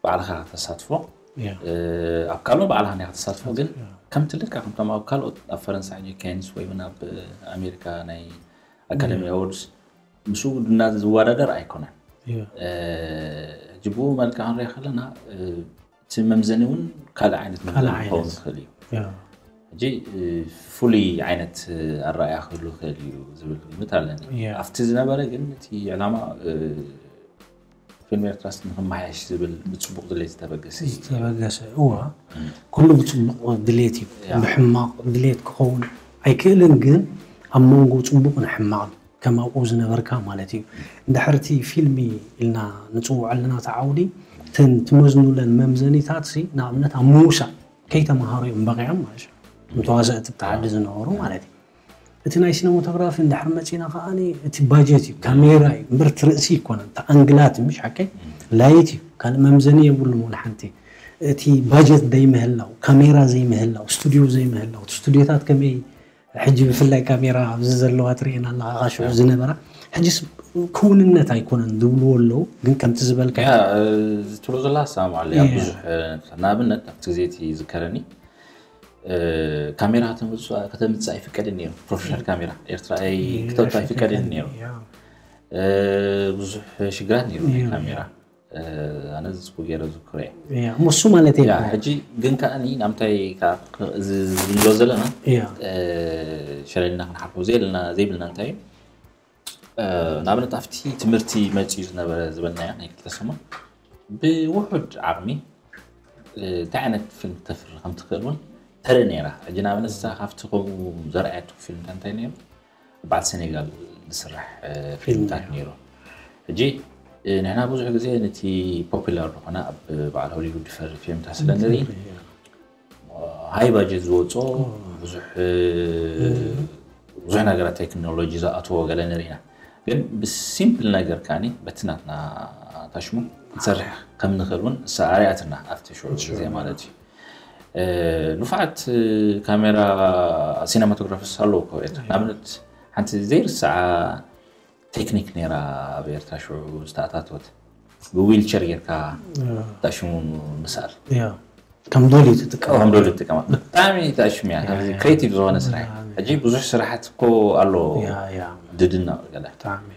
ባዕልኻ ከተሳትፎ ኣብ ካልኦ ባዕልኻ ኒኻ ተሳትፎ ግን ከምቲ ልካ ከምቶም ኣብ ካልኦት ኣብ ፈረንሳ ሕጂ ኬንስ ወይ እውን ኣብ ኣሜሪካ ናይ ኣካደሚ ኣዎርድስ ምስኡ ድና ዝወዳደር ኣይኮነን። ሕጂ ብኡ መልክዕ ክንሪኦ ከለና እቲ መምዘኒ እውን ካልእ ዓይነት መምዘኒ ክኸውን ይኽእል እዩ። ሕጂ ፍሉይ ዓይነት ኣረኣያ ክህሉ ይኽእል እዩ ዝብል ግምት ኣለኒ። ኣብቲ ዝነበረ ግን እቲ ዕላማ ፊልም ኤርትራስ ንክመሓየሽ ዝብል ብፅቡቅ ድሌት ዝተበገሰ እዩ። ዝተበገሰ እዋ ኩሉ ብፅቡቅ ድሌት እዩ። ብሕማቅ ድሌት ክኸውን ኣይክእልን፣ ግን ኣብ መንጎ ፅቡቅን ሕማቅን ከም ኣብኡ ዝነበርካ ማለት እዩ። እንድሕር እቲ ፊልሚ ኢልና ንፅውዖ ኣለና እቲ ዓውዲ እተን ትመዝኑለን መምዘኒታት ሲ ንኣብነት ኣብ ምውሳእ ከይተምሃሩ እዮም በቂዖም ማለት እዩ። ንተዋሰእቲ ብቲ ዓዲ ዝነበሩ ማለት እዩ። እቲ ናይ ሲነማቶግራፊ እንድሕር መፂና ከዓ እቲ ባጀት እዩ፣ ካሜራ እዩ እምበር እቲ ርእሲ ይኮነን። እቲ ኣንግላት ምሽ ሓቀይ ላይት እዩ፣ ካልእ መምዘኒ የብሉን። ወላ ሓንቲ እቲ ባጀት ዘይምህላው፣ ካሜራ ዘይምህላው፣ ስቱዲዮ ዘይምህላው፣ እቲ ስቱዲዮታት ከመይ ሕጂ ብፍላይ ካሜራ ኣብዚ ዘለዋ ትርእየና ኣለኻ፣ ካብ ሽዑ ዝነበራ ሕጂስ ክውንነት ኣይኮነን ዝብልዎ ኣለዉ። ግን ከምቲ ዝበልካ ዝትብሎ ዘላ ሰማማዕ ኣለያ። ብዙሕ ንኣብነት ኣብቲ ግዜ እቲ ይዝከረኒ ካሜራ ከተምፅእ ኣይፍቀድን ነይሩ። ፕሮፌሽናል ካሜራ ኤርትራ ክተውፅእ ኣይፍቀድን ነይሩ። ብዙሕ ሽግራት ነይሩ ናይ ካሜራ። ኣነ ዝፅቡ ገይረ ዝክሮ እየ። እያ እሞ እሱ ማለት እየ ሕጂ ግን ከዓኒ ናምታይ እዚ ዝብሎ ዘለና እያ ሸለልና ክንሓልፎ ዘይብልና ዘይብልና እንታይ እዩ? ንኣብነት ኣብቲ ትምህርቲ መፅኡ ዝነበረ ዝበልናዮ ናይ ክልተ ሰሙን ብውሑድ ዓቕሚ እንታይ ዓይነት ፊልም ክተፍሪ ከም ትኽእል እውን ተርኢ ነይራ። ሕጂ ንኣብነት እዛ ካብቲ ከምኡ ዘርኣየቱ ፊልም እንታይ ነይሩ? በዓል ሴኔጋል ዝስራሕ ፊልምታት ነይሩ። ሕጂ ንሕና ብዙሕ ግዜ ነቲ ፖፑላር ዝኾነ ኣብ በዓል ሆሊውድ ዝፈሪ ፊልምታት ስለ ንርኢ ሃይ ባጀት ዝወፅኦ ብዙሕ ብዙሕ ነገራት ቴክኖሎጂ ዝኣትዎ ገለ ንርኢ ኢና። ግን ብሲምፕል ነገር ከዓኒ በቲ ናትና ታሽሙ ክንሰርሕ ከም ንኽእል እውን እሳ ኣርያትና ኣብቲ ሽዑ ግዜ ማለት እዩ። ንፉዓት ካሜራ ሲነማቶግራፊስ ኣለዉ እኮ ኤርትራ። ንኣብነት ሓንቲ ዘይርስዓ ቴክኒክ ነይራ ኣብ ኤርትራ ሽዑ ዝተኣታተወት ብዊልቸር ጌርካ ታሽሙ ምስኣል ያ ከም ዶሊ ትጥቀም ከም ዶሊ ትጥቀማ ብጣዕሚ ታሽሙ እያ። ከምዚ ክሬቲቭ ዝኾነ ስራሕ እዩ። ሕጂ ብዙሕ ስራሓት እኮ ኣሎ ያ ያ ድድነቕ ገለ ብጣዕሚ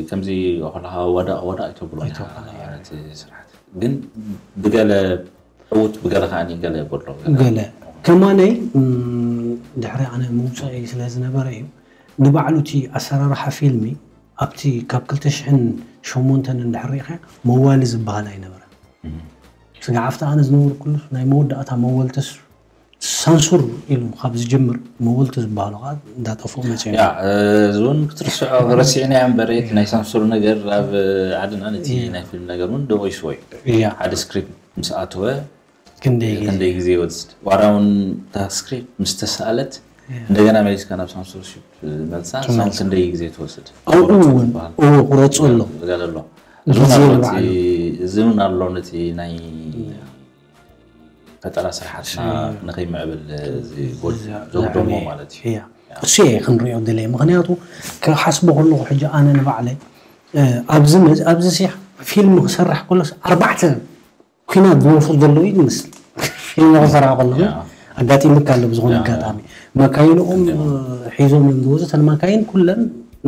ከምዚ ከለኻ ወዳቕ ወዳቕ ኣይተብሎ ኣይተብሎ፣ ያ። እቲ ስራሓት ግን ብገለ ዕውት ብገለ ከዓኒ ገለ የጎድሎ ገለ ከማነይ እም፣ ድሕሪ ኣነ ምውፅኢ ስለ ዝነበረ እዩ ንባዕሉ እቲ ኣሰራርሓ ፊልሚ ኣብቲ ካብ ክልተ ሽሕን ሸሞንተን እንድሕር ሪኢኻ መዋሊ ዝበሃል ኣይነበረ ስጋዕ ኣብቲ ኣነ ዝነበርኩሉ ናይ መወዳእታ መወልትስ ሳንሱር ኢሉ ካብ ዝጀምር መወልቲ ዝበሃሉ ከዓ እንዳጠፍኡ መፅኦም ያ እዚ እውን ክትርስዖ ረሲዕናዮ እምበር እቲ ናይ ሳንሱር ነገር ኣብ ዓድና ነቲ ናይ ፊልም ነገር እውን ደቂስዎ እዩ። እያ ሓደ ስክሪፕት ምስ ኣተወ ክንደይ ግዜ ክንደይ ግዜ ይወስድ? ዋላ እውን እታ ስክሪፕት ምስ ተሰኣለት እንደገና መሊስካ ናብ ሳንሱርሺፕ መልሳ እሳውን ክንደይ ግዜ ትወስድ? ኣብኡ እውን እዎ ቁረፁ ኣሎ ገለ ኣሎ። ግዜ እዚ እውን ኣሎ ንባዕሉ። እቲ- እዚ እውን ኣሎ ነቲ ናይ ፈጠራ ስራሓትና ንኸይምዕብል ዘውደሞ ማለት እዩ። እያ እሱ እየ ክንሪኦ ደለየ ምክንያቱ ክሓስቦ ከለኩ ሕጂ ኣነ ንባዕለይ እ፣ ኣብዚ መ- ኣብዚ ሲ ፊልም ክሰርሕ ከሎስ ኣርባዕተ ኩናት ዝወርፉ ዘለዉ እዩ ዝመስል ፊልም ክሰርሕ ከለኹ ያ። ኣጋጢሙካ ኣሎ ብዝኾነ ያ። ኣጋጣሚ መካይንኦም እ፣ ሒዞም እዮም ዝወፁ እተን መካይን ኩለን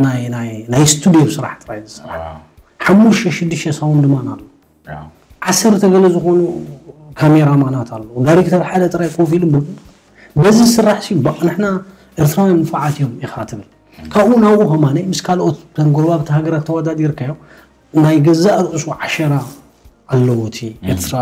ናይ ናይ ናይ ስቱድዮ ስራሕ ጥራይ ዝሰርሓ ዋው። ሓሙሽተ ሽዱሽተ ሳውንድ ማን ኣሎ ያ። ዓሰርተ ገለ ዝኾኑ ካሜራማናት ኣለዉ ዳይሬክተር ሓደ ጥራይ ኮፍ ኢሉ ብ- በዚ ዝስራሕ ሲ በቃ ንሕና ኤርትራውያን ንፉዓት እዮም ኢኻ ትብል ካብኡ ናብኡ ከማነ ምስ ካልኦት ተን ጎረባብቲ ሃገራት ተወዳዲርካዮ ናይ ገዛእ ርእሱ ዓሸራ ኣለዎ እቲ ኤርትራ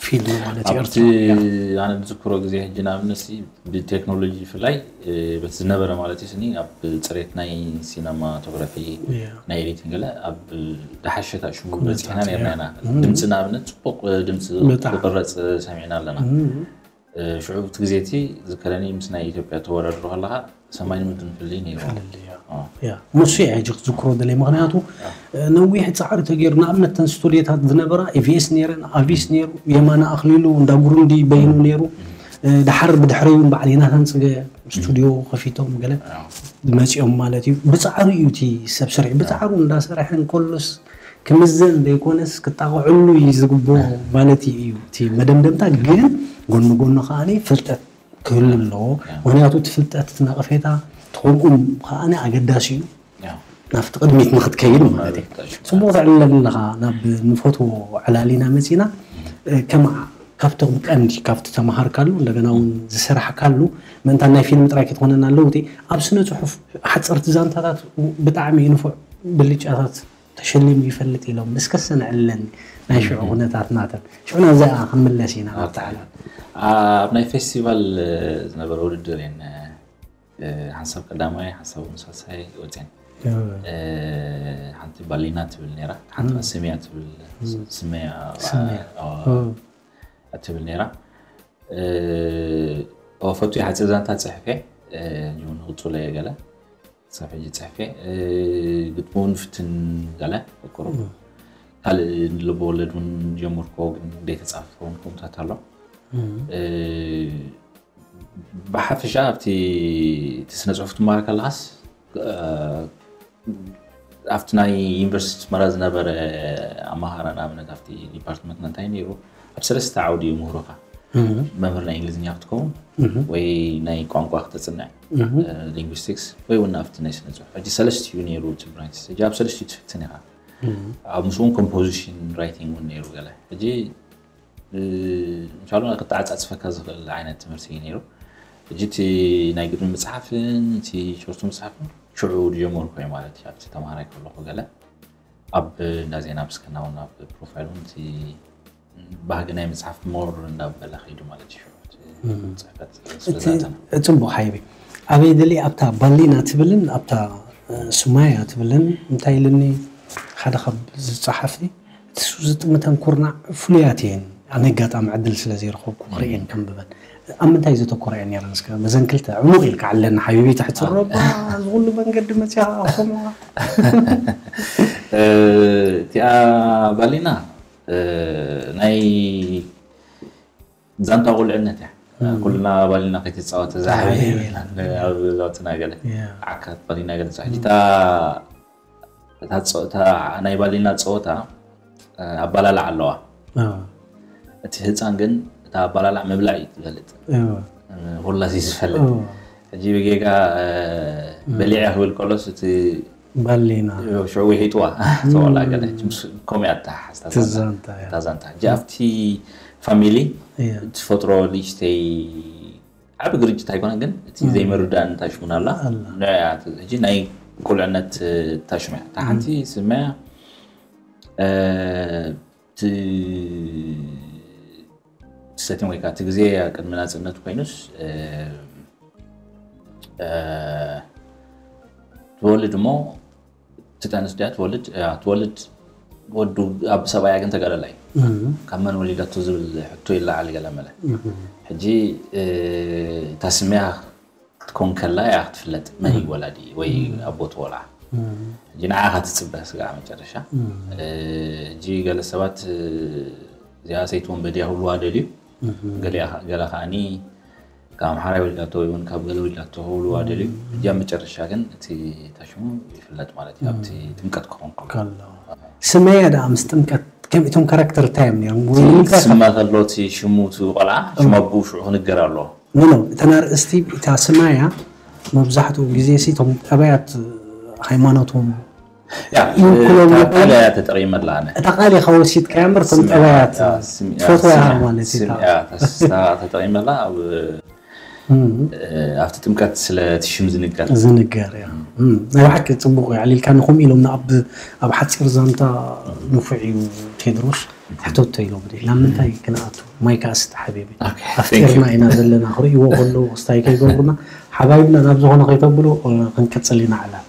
ፊልም ማለት እዩ ኣብቲ ኤርትራ ኣነ ዝዝክሮ ግዜ ሕጂ ንኣብነት ሲ ብቴክኖሎጂ ብፍላይ እ፣ በቲ ዝነበረ ማለት እዩ ስኒ ኣብ ፅሬት ናይ ሲነማቶግራፊ እያ። ናይ ኤዲቲንግ ገለ ኣብ ዝሓሸ ታሽሙ ኩነታት በፂሕና ነርና ኢና እም። ድምፂ ንኣብነት ፅቡቅ እ፣ ድምፂ በጣም። ክቅረፅ ሰሚዕና ኣለና እም። እ፣ ሽዑ እቲ ግዜ እቲ ዝከረኒ ምስ ናይ ኢትዮጵያ ተወዳድሮ ከለካ ሰማይን ምድርን ፍልይ ነይሩ ፍልልይ፣ ያ። ያ፣ ንሱ እየ ሕጂ ክዝክሮ ደለይ ምክንያቱ እ፣ ነዊሕ ፃዕሪ ተገይሩ ንኣብነት ተን ስቱዲዮታት ዝነበራ ኢቪኤስ ነይረን ኣቪስ ነይሩ የማና ኣክሊሉ እንዳ ጉሩንዲ በይኑ ነይሩ እ፣ ድሓር ብድሕረዩ በዓል ዮናታን ፅገ ስቱዲዮ ከፊቶም ገለ መፂኦም ማለት እዩ ብፃዕሩ እዩ እቲ ሰብ ስርሒ ብፃዕሩ እንዳሰርሐ እንከሎስ ክምዘን ዘይኮነስ ክጣቕዕሉ እዩ ዝግብኦ ማለት እዩ እቲ መደምደምታ ግን ጎኒ ጎኒ ከዓ ፍልጠት ክህሉ ኣለዎ ምክንያቱ እቲ ፍልጠት እቲ ነቐፌታ ትኸምኡም ከዓ ኣገዳሲ እዩ ናብቲ ቅድሚት ንክትከይድ ማለት እዩ ፅቡቅ ተዕልለኒ ኣለካ ናብ ንፈትዎ ዕላሊና መፂና ከማ ካብቶም ቀንዲ ካብቲ ተመሃርካሉ እንደገና እውን ዝሰራሕካሉ ምእንታ ናይ ፊልም ጥራይ ክትኾነና ኣለውቲ ኣብ ስነ ፅሑፍ ሓፀርቲ ዛንታታት ብጣዕሚ ንፉዕ ብልጫታት ተሸሊሙ ይፈልጥ ኢሎም እስከ ሰንዕለኒ ናይ ሽዑ ኩነታት ናተን ሽዑ ናብዚኣ ክንምለስ ኢና ኣብቲ ዓለም ኣብ ናይ ፌስቲቫል ዝነበረ ውድድር እየን ሓንሳብ ቀዳማይ ሓንሳብ ምሳሳይ ወፅን ሓንቲ ባሊና ትብል ነራ ሓንቲ ስምያ ትብል ስመያ ትብል ነራ ፈቱ ሓፂር ዛንታ ፅሕፈ ንቅፁለ ገለ ክሳብ ሕጂ ፅሕፈ ግጥሙ ንፍትን ገለ ቁሩ ካልእ ልበወለድ እውን ጀምርኮ ግን ዘይተፃፍፈ እውን ከምታት ኣሎ ብሓፈሻ ኣብቲ እቲ ስነ ፅሑፍ ትማሃር ከለካስ ኣብቲ ናይ ዩኒቨርሲቲ ኣስመራ ዝነበረ ኣመሃራ ንኣብነት ኣብቲ ዲፓርትመንትና እንታይ ነይሩ ኣብ ሰለስተ ዓውዲ እዩ ምህሮካ መምህር ናይ እንግሊዝኛ ክትከውን ወይ ናይ ቋንቋ ክተፅንዕ፣ ሊንጉስቲክስ ወይ እውን ኣብቲ ናይ ስነ ፅሑፍ። ሕጂ ሰለስቲኡ ነይሩ እቲ ብራንች። ሕጂ ኣብ ሰለስቲኡ ትፍትን ኢኻ። ኣብ ምስኡ ኮምፖዚሽን ራይቲንግ እውን ነይሩ ገለ። ሕጂ እንሻላ ክተዓፃፅፈካ ዝኽእል ዓይነት ትምህርቲ እዩ ነይሩ። ሕጂ እቲ ናይ ግጥሚ ምፅሓፍን እቲ ሾርት ምፅሓፍን ሽዑ ዝጀመርኩ እየ ማለት እዩ። ኣብቲ ተምሃራይ ከለኹ ገለ ኣብ እንዳ ዜና ምስከና እውን ኣብ ፕሮፋይል እውን እቲ ባህጊ ናይ ምፅሓፍ ሞር እንዳበለ ከይዱ ማለት እዩ። ሽዑ እቲ ጽሕፈት ስለ እቲ ዛተና። ጽቡቕ ሓይቢ። ኣበይ ደሊ ኣብታ ባሊና ትብልን ኣብታ፣ እ፣ ሱማያ ትብልን እንታይ ኢልኒ ሓደ ካብ ዝጸሓፍቲ፣ እቲ ሱ ዝጥምተን ኩርናዕ ፍሉያት እየን። ኣነ ኣጋጣሚ ዕድል ስለ ዘይረኸብኩ ክርእየን ከንብበን። ኣብ ምንታይ ዘተኮራ እየን ነይረን? እስከ በዘን ክልተ ዕሙቕ ኢልካ ዓለና ሓቢቢ፣ ትሕቲ ሮባ፣ እዚ ኩሉ መንገዲ መጺኻ ኣኽሱም። እ፣ እቲኣ ባሊና፣ እ፣ ናይ ዛንታ ቁልዕነት እያ። እም። ኩልና ባሊና ከይትጻወት እዛ ዓብይ ዓብይ የብላን። ኣብ ዛውትና ገለ። ያ። ዓካት ባሊና ገለ ጻሕሊታ፣ እታ ጸ-፣ እታ ናይ ባሊና ጸወታ፣ እ፣ ኣባላላዕ ኣለዋ። ኣዎ። እቲ ህጻን ግን እታ ኣባላላዕ ምብላዕ እዩ ዝፈልጥ። ኣዎ። እ፣ ኩላ ሲ ዝፈልጥ። ኣዎ። ሕጂ ብጌጋ፣ እ፣ እም። በሊዐ ክብል ከሎስ እቲ ባሊና። ሽዑ ውሒጥዋ። ተወላ ገለ። ምስ ከምኡ እያ እታ ሓስታ ዛንታ። ትዛንታ እያ። እታ ዛንታ። ሕጂ ኣብቲ ፋሚሊ እያ። ትፈጥሮ ልጅተይ ዓቢ ግርጭት ኣይኮነን፣ ግን እቲ እም። ዘይምርዳእ እንታይ ሽሙን ኣላ። ኣላ። ንዕያ ት-፣ ሕጂ ናይ ቁልዕነት፣ እ፣ ታሽሙ እያ። እታ እም። ሓንቲ ስመያ፣ እ፣ ት-፣ ሰቲም ወይ ከዓ እቲ ግዜ ቅድሚ ናጽነት ኮይኑስ፣ እ፣ እ፣ ትወልድ እሞ፣ ትጠንስ ድያ ትወልድ? እያ፣ ትወልድ። ወዱ ኣብ ሰብኣያ ግን ተጋዳላይ እዩ። እም። ካብ መን ወሊዳቶ ዝብል ሕቶ ይለዓል ገለ መለ። እም። ሕጂ፣ እ፣ እታ ስመያ ክትኮን ከላ እያ ክትፍለጥ መን እዩ እም። ወላዲ ወይ እም። ኣቦ እቲ ቆልዓ። እም። ሕጂ ንዓኻ ትጽበ ስጋዕ መጨረሻ። እም። እ፣ ሕጂ ገለ ሰባት፣ እ፣ እዚኣ ሰይቲ ወንበዴ ክብልዋ ደልዩ። እም። ገሊኣ-፣ ገለ ከዓኒ ካብ ኣምሓራይ ወሊዳቶ ወይ እውን ካብ ገለ ወሊዳቶ ክብልዋ ደልዩ። እም። ሕጂ ኣብ መጨረሻ ግን እቲ እታ ሽሙ ይፍለጥ ማለት እዩ። ኣብቲ እም። ጥምቀት ክኸውን ከሎ። ከሎ። ስመያ ደኣ ምስ ጥምቀት ከም እቶም ካራክተር እንታይ እዮም ነይሮም? ወይ ንምንታይ ስመ ከሎ እቲ ሽሙ እቲ ቆልዓ፣ ሽም እም። ኣቦኡ ሽዑ ክንገር ኣለዎ። ኖ፣ ኖ፣ እተን ኣርእስቲ እታ ስማያ መብዛሕትኡ ግዜ ሲ እቶም ጠባያት ሃይማኖቶም ያ፣ ይውክሎም እታ ይኾኑ። ቃል እያ ተጠቒመላ ኣነ። እታ ቃል ኢኻ ወሲድካያ እምበር እቶም ስምያ፣ ጠባያት ያ፣ ስምያ፣ ትፈትዋ ኢኻ ስምያ፣ ማለት እዩ። ስምያ፣ እታ ተጠቒመላ ኣብ፣ እም። እ፣ ኣብቲ ጥምቀት ስለ እቲ ሽም ዝንገር። ዝንገር፣ ያ። እም። እም። ናይ ብሓቂ ጽቡቕ እዩ። ኣዕሊልካ ንኹም ኢሎም ኣብ፣ ኣብ ሓጺር ዛንታ ንፉዕ እዩ ቴድሮስ። ሕቶቶ ኢሎም፣ ናብ ምንታይ ክንኣቱ? ማይክ ኣስተ ሓቢቢ። ኦኬ፣ ኣፍጢርና thank you። ኢና ዘለና፣ ክርእይዎ ከለዉ ክስታይ ከይገብሩና፣ ሓባይብና ናብ ዝኾነ ከይተብሉ፣ እ፣ ክንቅጽል ኢና ዕላል።